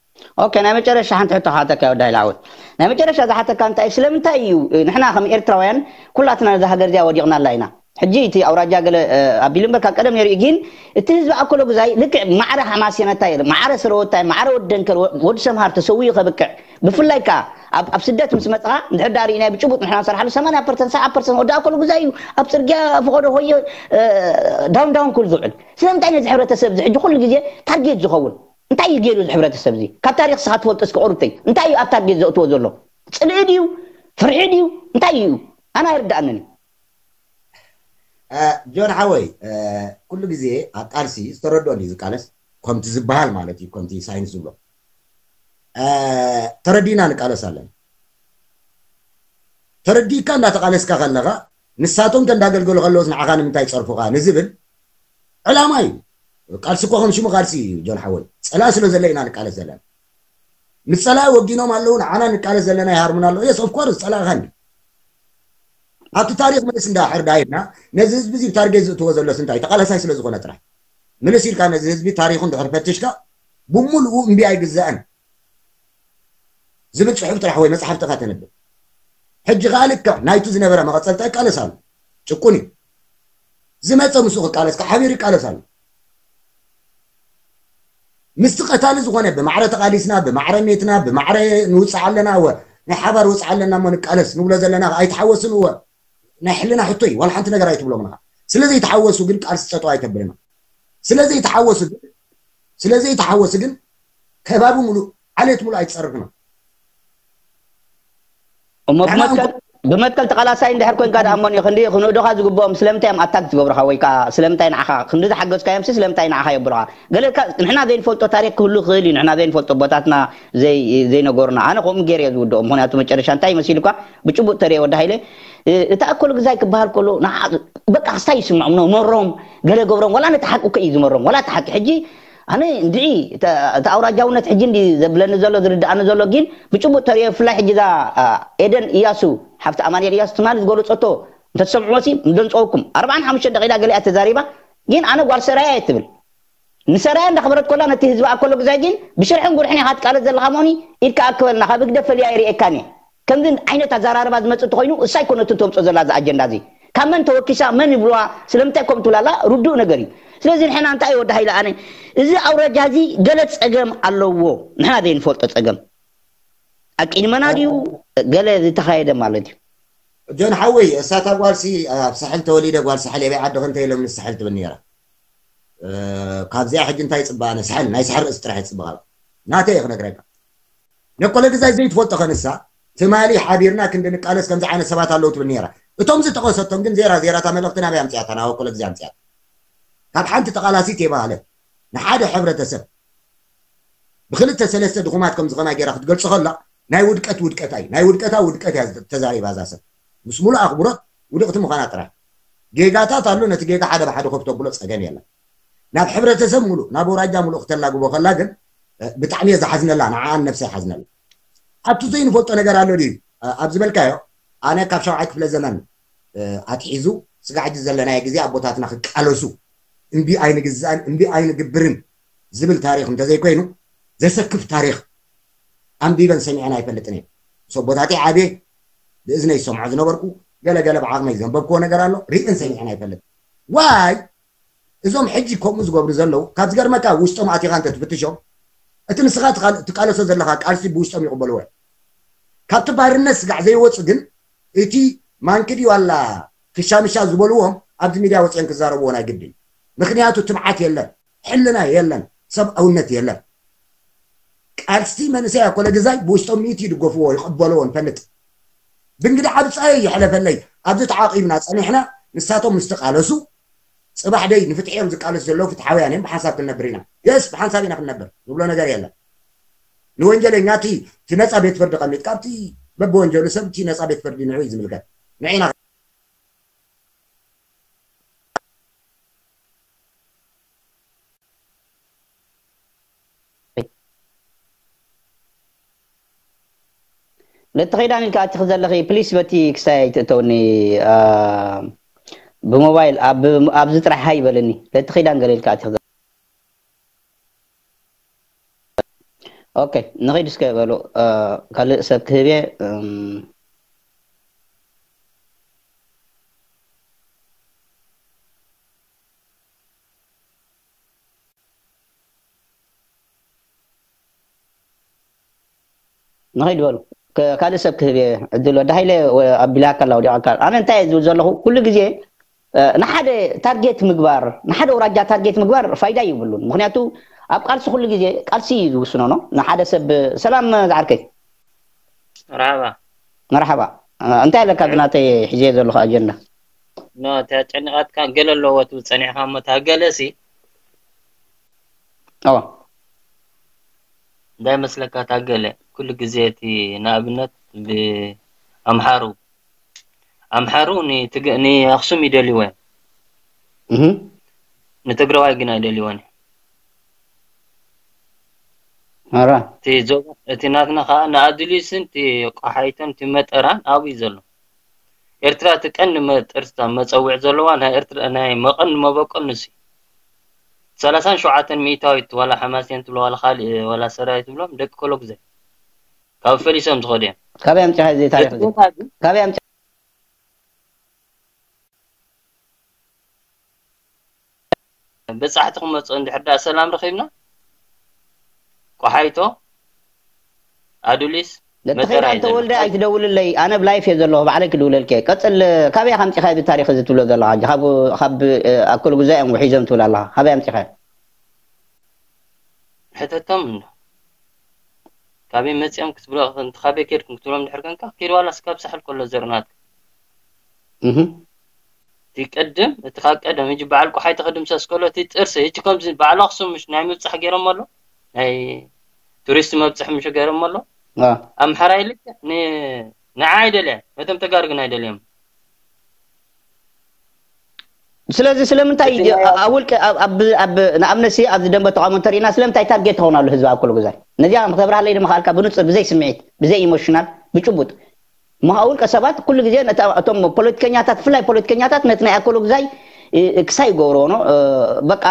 ኦኬ ናይ መጨረሻ ሓንቲ ሕቶ ክሓተካ ወዳይ ላዕወት ናይ መጨረሻ ዝሓተካ እንታይ ስለምንታይ እዩ ንሕና ከም ኤርትራውያን ኩላትና ነዛ ሃገር እዚኣ ወዲቕናላ ኢና ሕጂ እቲ ኣውራጃ ገለ ኣቢሉ እምበር ካብ ቀደም ነይሩ እዩ ግን እቲ ህዝቢ ኣኮሎ ግዛይ ልክዕ ማዕረ ሓማሴነታይ ማዕረ ስረወታይ ማዕረ ወዲ ደንከል ወዲ ሰምሃር ተሰዊኡ ከብቅዕ ብፍላይ ከዓ ኣብ ኣብ ስደት ምስ መፅኻ እንድሕር ዳ ርኢናዮ ብጭቡጥ ንሕና ንሰርሓሉ ሰማንያ ፐርሰንት ሰብዓ ፐርሰንት ወዲ ኣኮሎ ግዛይ እዩ ኣብ ፅርግያ ፈቐዶ ሆየ ዳውን ዳውን ክብል ዝውዕል ስለምንታይ ነዚ ሕብረተሰብ እዚ ሕጂ ኩሉ ግዜ ታርጌት ዝኸውን እንታይ እዩ ገይሩ እዚ ሕብረተሰብ እዚ ካብ ታሪክ ስኻ ትፈልጦ እስኪ ቁርብተይ እንታይ እዩ ኣብ ታርጌት ዘእትዎ ዘሎ ፅልኢ ድዩ ፍርሒ ድዩ እንታይ እዩ ኣነ ኣይርዳእንን እዩ ጆን ሓወይ ኩሉ ግዜ ኣብ ቃልሲ ዝተረድኦ ድዩ ዝቃለስ ከምቲ ዝበሃል ማለት እዩ ከምቲ ሳይንስ ዝብሎ ተረዲና ንቃለስ ኣለና ተረዲእካ እንዳተቃለስካ ከለካ ንሳቶም ተንዳገልገሉ ከለውስ ንዓኻ ንምንታይ ፀርፉካ ንዝብል ዕላማ እዩ ቃልሲ እኮ ከም ሽሙ ቃልሲ እዩ ጆን ሓወይ ፀላእ ስለ ዘለ ኢና ንቃለስ ዘለና ምስ ፀላኢ ወጊኖም ኣለዉ ንዓና ንቃለስ ዘለና ይሃርሙና ኣለዉ yes of course ፀላእኻ እንዲ ኣብቲ ታሪክ ምልስ እንዳ ሕርዳ ኢልና ነዚ ህዝቢ እዚ ብታርጌት ዝእትዎ ዘሎስ እንታይ ተቃላሳይ ስለ ዝኾነ ጥራሕ ምልስ ኢልካ ነዚ ህዝቢ ታሪኩ እንድሕር ፈትሽካ ብሙሉኡ እምቢ ኣይግዛእን ዝብል ፅሑፍ ጥራሕ ወይ መፅሓፍ ጥካ ተንብብ ሕጂ ከዓ ልክዕ ናይቱ ዝነበረ መቐፀልታ ይቃለስ ኣሎ ጭቁን እዩ ዝመፀ ምስኡ ክቃለስ ከዓ ሓቢሩ ይቃለስ ኣሎ ምስቲ ቀታሊ ዝኾነ ብማዕረ ተቓሊስና ብማዕረ ሜትና ብማዕረ ንውፅእ ኣለና እወ ናይ ሓባር ወፅእ ኣለና እሞ ንቃለስ ንብሎ ዘለና ኣይተሓወስን እወ ናይ ሕልና ሕቶ እዩ ዋላ ሓንቲ ነገር ኣይትብሎም ንኻ ስለ ዘይተሓወሱ ግን ቃልሲ ፀጠው ኣይተብልና ስለ ዘይተሓወሱ ግን ስለ ዘይተሓወሱ ግን ከባቢ ሙሉእ ዓሌት ሙሉእ ኣይትፀርፍና እሞ ብመትከል ብመትከል ተቓላሳይ እንድሕር ኮንካ ደኣ እሞኒ ክንዲ ክንእዶኻ ዝግብኦም ስለምንታይ እዮም ኣታክ ዝገብሩኻ ወይ ከዓ ስለምንታይ ንዓኻ ክንዲ ዝሓገዝካዮም ሲ ስለምንታይ ንዓኻ የብሉኻ ገለ ካ ንሕና ዘይንፈልጦ ታሪክ ክህሉ ይኽእል እዩ ንሕና ዘይንፈልጦ ቦታትና ዘይ ዘይነገሩና ኣነ ከምኡ ገይረ እየ ዝውድኦ ምክንያቱ መጨረሻ እንታይ መሲልኳ ብጭቡጥ ተሪኦ ወዲ ሃይለ እ- እታ ኣኮሎ ግዛይ ክበሃል ከሎ ንዓ- በቃ ክስታይ ይስምዖም ኖ ኖሮም ገለ ገብሮም ዋላ ነቲ ሓቂ እኮ እዩ ዝመሮም ዋላ እቲ ሓቂ ሕጂ ኣነ እንድዒ እቲ ኣውራጃውነት ሕጂ እንዲ ዘብለኒ ዘሎ ዝርድኣኒ ዘሎ ግን ብጭቡጥ ተሪኦ ብፍላይ ሕጂ እዛ ኤደን እያሱ ሓፍቲ ኣማኑኤል እያሱ ትማሊ ዝገለፀቶ እንተትሰምዕዎ ሲ ምደንፀወኩም ኣርባዓን ሓሙሽተ ደቂዳ ገሊኣ ተዛሪባ ግን ኣነ ጓል ሰራያ እየ ትብል ንሰራያ እንዳኽበረት ኮላ ነቲ ህዝቢ ኣኮሎ ግዛይ ግን ብሽርሕን ጉርሕን ኢኻ ትቃለስ ዘለኻ መሆኒ ኢድካ ኣክበልና ካብ ህግደፍ ፈልያ ይርእየካን እየ ከምዚ ዓይነት ኣዘራርባ ዝመፅእ እንተኾይኑ እሳ ኣይኮነትን ተምፅኦ ዘላ እዚ ኣጀንዳ እዚ ካብ መን ተወኪሳ መን ይብልዋ ስለምንታይ ከምኡ ትብላላ ርዱእ ነገር እዩ ስለዚ ንሕና እንታይ ወዲ ሃይለ ኣነ እዚ ኣውራጃ እዚ ገለ ፀገም ኣለዎ ንሕና ዘይንፈልጦ ፀገም ኣቂድመና ድዩ ገለ ዝተኻየደ ማለት እዩ ጆን ሓወይ እሳታ ጓልሲ ኣብ ሳሕል ተወሊደ ጓል ሳሕል የበይ ዓዲ ክንተ ኢሎም ንሳሕል ትብል ነራ ካብዚኣ ሕጂ እንታይ ይፅበኣነ ሳሕል ናይ ሳሕል ርእሲ ጥራሕ ይፅበ ካብ ናተይ ክነግረካ ነኮለ ግዛይ ዘይትፈልጦ ከንሳ ትማሊ ሓቢርና ክንዲ ንቃለስ ከምዚ ዓይነት ሰባት ኣለዉ ትብል ነራ እቶም ዝጠቐሰቶም ግን ዜራ ዜራታ መልእኽቲ ናበይ ኣምፅያታ ናብ ኣኮለ ግዜ ኣምፅያታ ካብ ሓንቲ ተቓላሲት የባህለት ንሓደ ሕብረተሰብ ብክልተ ሰለስተ ድኹማት ከም ዝኸና ጌራ ክትገልጾ ከላ ናይ ውድቀት ውድቀት ኣይ ናይ ውድቀታ ውድቀት እያ ተዛሪባ እዛ ሰብ ምስ ሙሉእ ኣኽብሮት ውድቕቲ ምዃና ጥራሕ ጌጋታት ኣሎ ነቲ ጌጋ ሓደ ብሓደ ከፍተብሎ ጸገም የለን ናብ ሕብረተሰብ ሙሉእ ናብ ወራጃ ሙሉእ ክተላግቦ ከላ ግን ብጣዕሚ እየ ዝሓዝነላ ንዓኣን ነብሰ ይሓዝነላ ኣብቲ ዘይንፈልጦ ነገር ኣሎ ድዩ ኣብ ዝበልካዮ ኣነ ካብ ሻውዓይ ክፍለ ዘመን ኣትሒዙ ስጋዕ ሕጂ ዘለናዮ ግዜ ኣቦታትና ክቃለሱ እምቢ ኣይንግዛእን እምቢ ኣይንግብርን ዝብል ታሪኽ እንተዘይኮይኑ ዘሰክፍ ታሪኽ ኣንቢበን ሰሚዐን ኣይፈልጥን እየ ምስ ኣቦታተይ ዓብየ ብእዝነይ ዝሰምዖ ዝነበርኩ ገለ ገለ ብዓቕመይ ዘንበብክዎ ነገር ኣሎ ርእየን ሰሚዐን ኣይፈልጥ ዋይ እዞም ሕጂ ከምኡ ዝገብሩ ዘለዉ ካብ ዝገርመካ ውሽጦም ኣቲኻ እንተ ትፍትሾም እቲ ንስኻ ትቃለሶ ዘለኻ ቃልሲ ብውሽጦም ይቕበልዎ ካብቲ ባርነት ስጋዕ ዘይወፁ ግን እቲ ማንኪ ድዩ ኣላ ክሻምሻ ዝበልዎም ኣብዚ ሚድያ ወፅኦም ክዛረብዎ ናይ ግድን ምክንያቱ ትብዓት የለን ሕልና የለን ሰብኣውነት የለን ቃልሲ መንእሰይ ኣኮለ ግዛይ ብውሽጦም ሚእቲ ይድገፍዎ ይቐበልዎ ንፈልጥ ብእንግዲ ዓብፃየ ይሕለፈለይ ኣብዚ ተዓቂብና ፀኒሕና ንሳቶም ምስ ተቃለሱ ፅባሕ ደይ ንፍትሒ እዮም ዝቃለሱ ዘለዉ ፍትሓውያን እዮም ብሓንሳብ ክንነብር ኢና የስ ብሓንሳብ ኢና ክንነብር ንብሎ ነገር የለን ንወንጀለኛ እቲ እቲ ነፃ ቤት ፍርዲ ቀሚጥካ ኣብቲ በብወንጀሉ ሰብ እቲ ነፃ ቤት ፍርዲ ንዑ እዩ ዝምልከት ንዒና ለቲ ኸይዳን ኢልካ ኣቲኺ ዘለኺ ፕሊስ በቲ ክሳይ ኣይትእተውኒ ብሞባይል ኣብዚ ጥራሕ ሃይ በለኒ ለቲ ኸይዳን ገለ ኢልካ ኣቲኺ ኦኬ ንኺድ እስከ በሉ ካልእ ሰብ ክህብ እየ ንኸይድ በሉ ካልእ ሰብ ክህብ እየ ዕድል ወዲ ሃይለ ኣቢላካ ኣላ ወዲቓካ ኣነ እንታይ እየ ዝብል ዘለኹ ኩሉ ግዜ ንሓደ ታርጌት ምግባር ንሓደ ወራጃ ታርጌት ምግባር ፋይዳ ይብሉን ምክንያቱ ኣብ ቃልሲ ኩሉ ግዜ ቃልሲ እዩ ዝውስኖ ነው ንሓደ ሰብ ሰላም ዝዓርከይ መርሓባ መርሓባ እንታይ ኣለካ ብናተይ ሒዘ ዘለኹ ኣጀንዳ ኖ እታ ጨኒቓትካ ገለ ኣለዎ ትብል ጸኒሕካ እሞ እታ ገለ ሲ ኣዎ እንታይ መስለካ እታ ገለ ኩሉ ግዜ እቲ ንኣብነት ብኣምሓሩ ኣምሓሩ ንኣኽሱም ይደልይዎ እዮም ንትግራዋይ ግን ኣይደልይዎን ኣራ እቲ ናትና ከዓ ንኣድሊስን እቲ ቆሓይቶን እቲ መጠራን ኣብኡ እዩ ዘሎ ኤርትራ እቲ ቀንዲ መጠርታ መፀውዕ ዘለዋ ናይ ኤርትራ ናይ መቐን መበቆል ንሱ እዩ ሰላሳን ሸውዓተን ሚእታዊት ዋላ ሓማሴን ትብሎ ዋላ ካልእ ዋላ ሰራዊት ትብሎም ደቂ ኮሎግዘ ካብ ፈሊሶም ዝኸዱ እዮም ካበይ ኣምፂኻ እዚ ታሪክ እዚ ካበይ ኣምፂኻ በጻሕቲ ክመጽኦ እንድሕር ደኣ ሰላም ረኺብና ቆሓይቶ ኣዱሊስ ለተኸይዳ እንተ ወልደ ኣይትደውልለይ ኣነ ብላይፍ እየ ዘለኹ ባዕለይ ክድውለልከ ቀፅል ካበይ ከምፂኻ እዚ ታሪክ እዚ ትብሎ ዘለኻ ካብ ኣክል ጉዛይ እዮም ውሒዞም ትብል ኣለኻ ካበይ ኣምፂኻ ሕተቶም እንዶ ካበይ መፂኦም ክትብሎ ካበይ ኬድኩም ክትብሎም ድሕር ከንካ ኪድ ዋላ ስካብ ሳሕል ከሎ ዘርናት እቲ ቀደም እቲ ካብ ቀደም እጂ በዓል ቆሓይ ተኸድምሰስ ከሎ እቲ ጥርሲ እጂ ከምዚ በዓል ኣኽሱም ምሽ ናይ ምብጻሕ ገይሮም ኣሎ ናይ ቱሪስት መብጽሕ ምሽ ገይሮም ኣሎ ኣምሓራይ ልክ ንዓ ኣይደልያ ነቶም ተጋሩ ግን ኣይደልዮም ስለዚ ስለምንታይ ኣብ ውልቀ ንኣብነት ኣብዚ ደንበ ተቃውሞ እንተሪእና ስለምንታይ ታርጌት ትኸውን ኣሎ ህዝቢ ኣብ ኩሉ ግዛይ ነዚኣ ክተብርሃለይ ድማ ካልካ ብንፁር ብዘይ ስምዒት ብዘይ ኢሞሽናል ብጭቡጥ ምሃ ውልቀ ሰባት ኩሉ ግዜ እቶም ፖለቲከኛታት ብፍላይ ፖለቲከኛታት ነቲ ናይ ኣኮሎ ግዛይ ክሳይ ይገብርዎ በቃ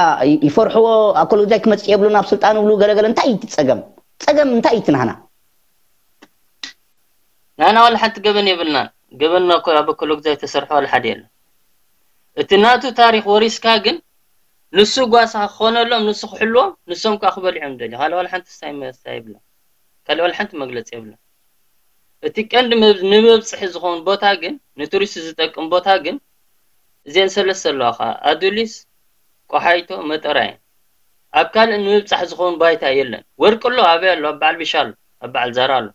ይፈርሕዎ ኣኮሎ ግዛይ ክመፅእ የብሉ ናብ ስልጣን ብሉ ገለገለ እንታይ እዩ ጸገም ጸገም እንታይ እዩ ናህና ናና ዋላ ሓንቲ ገበን የብልና ገበንና እኮ ኣብ ኣኮሎ ግዛይ ተሰርሖ ዋላ ሓደ የለን እቲ ናቱ ታሪክ ወሪስካ ግን ንሱ ጓሳ ክኾነሎም ንሱ ክሕልዎም ንሶም ከዓ ክበልዖም ደልዩ ካልእ ዋላ ሓንቲ ስታይ መስታ የብላ ካልእ ዋላ ሓንቲ መግለፂ የብላ እቲ ቀንዲ ንመብፅሒ ዝኸውን ቦታ ግን ንቱሪስት ዝጠቅም ቦታ ግን እዚአን ሰለስተ ኣለዋ ከዓ ኣዱሊስ ቆሓይቶ መጠራ እየን ኣብ ካልእ ንምብፃሕ ዝኸውን ባይታ የለን ወርቂ ኣሎ ኣበይ ኣሎ ኣብ በዓል ቢሻ ኣሎ ኣብ በዓል ዛራ ኣሎ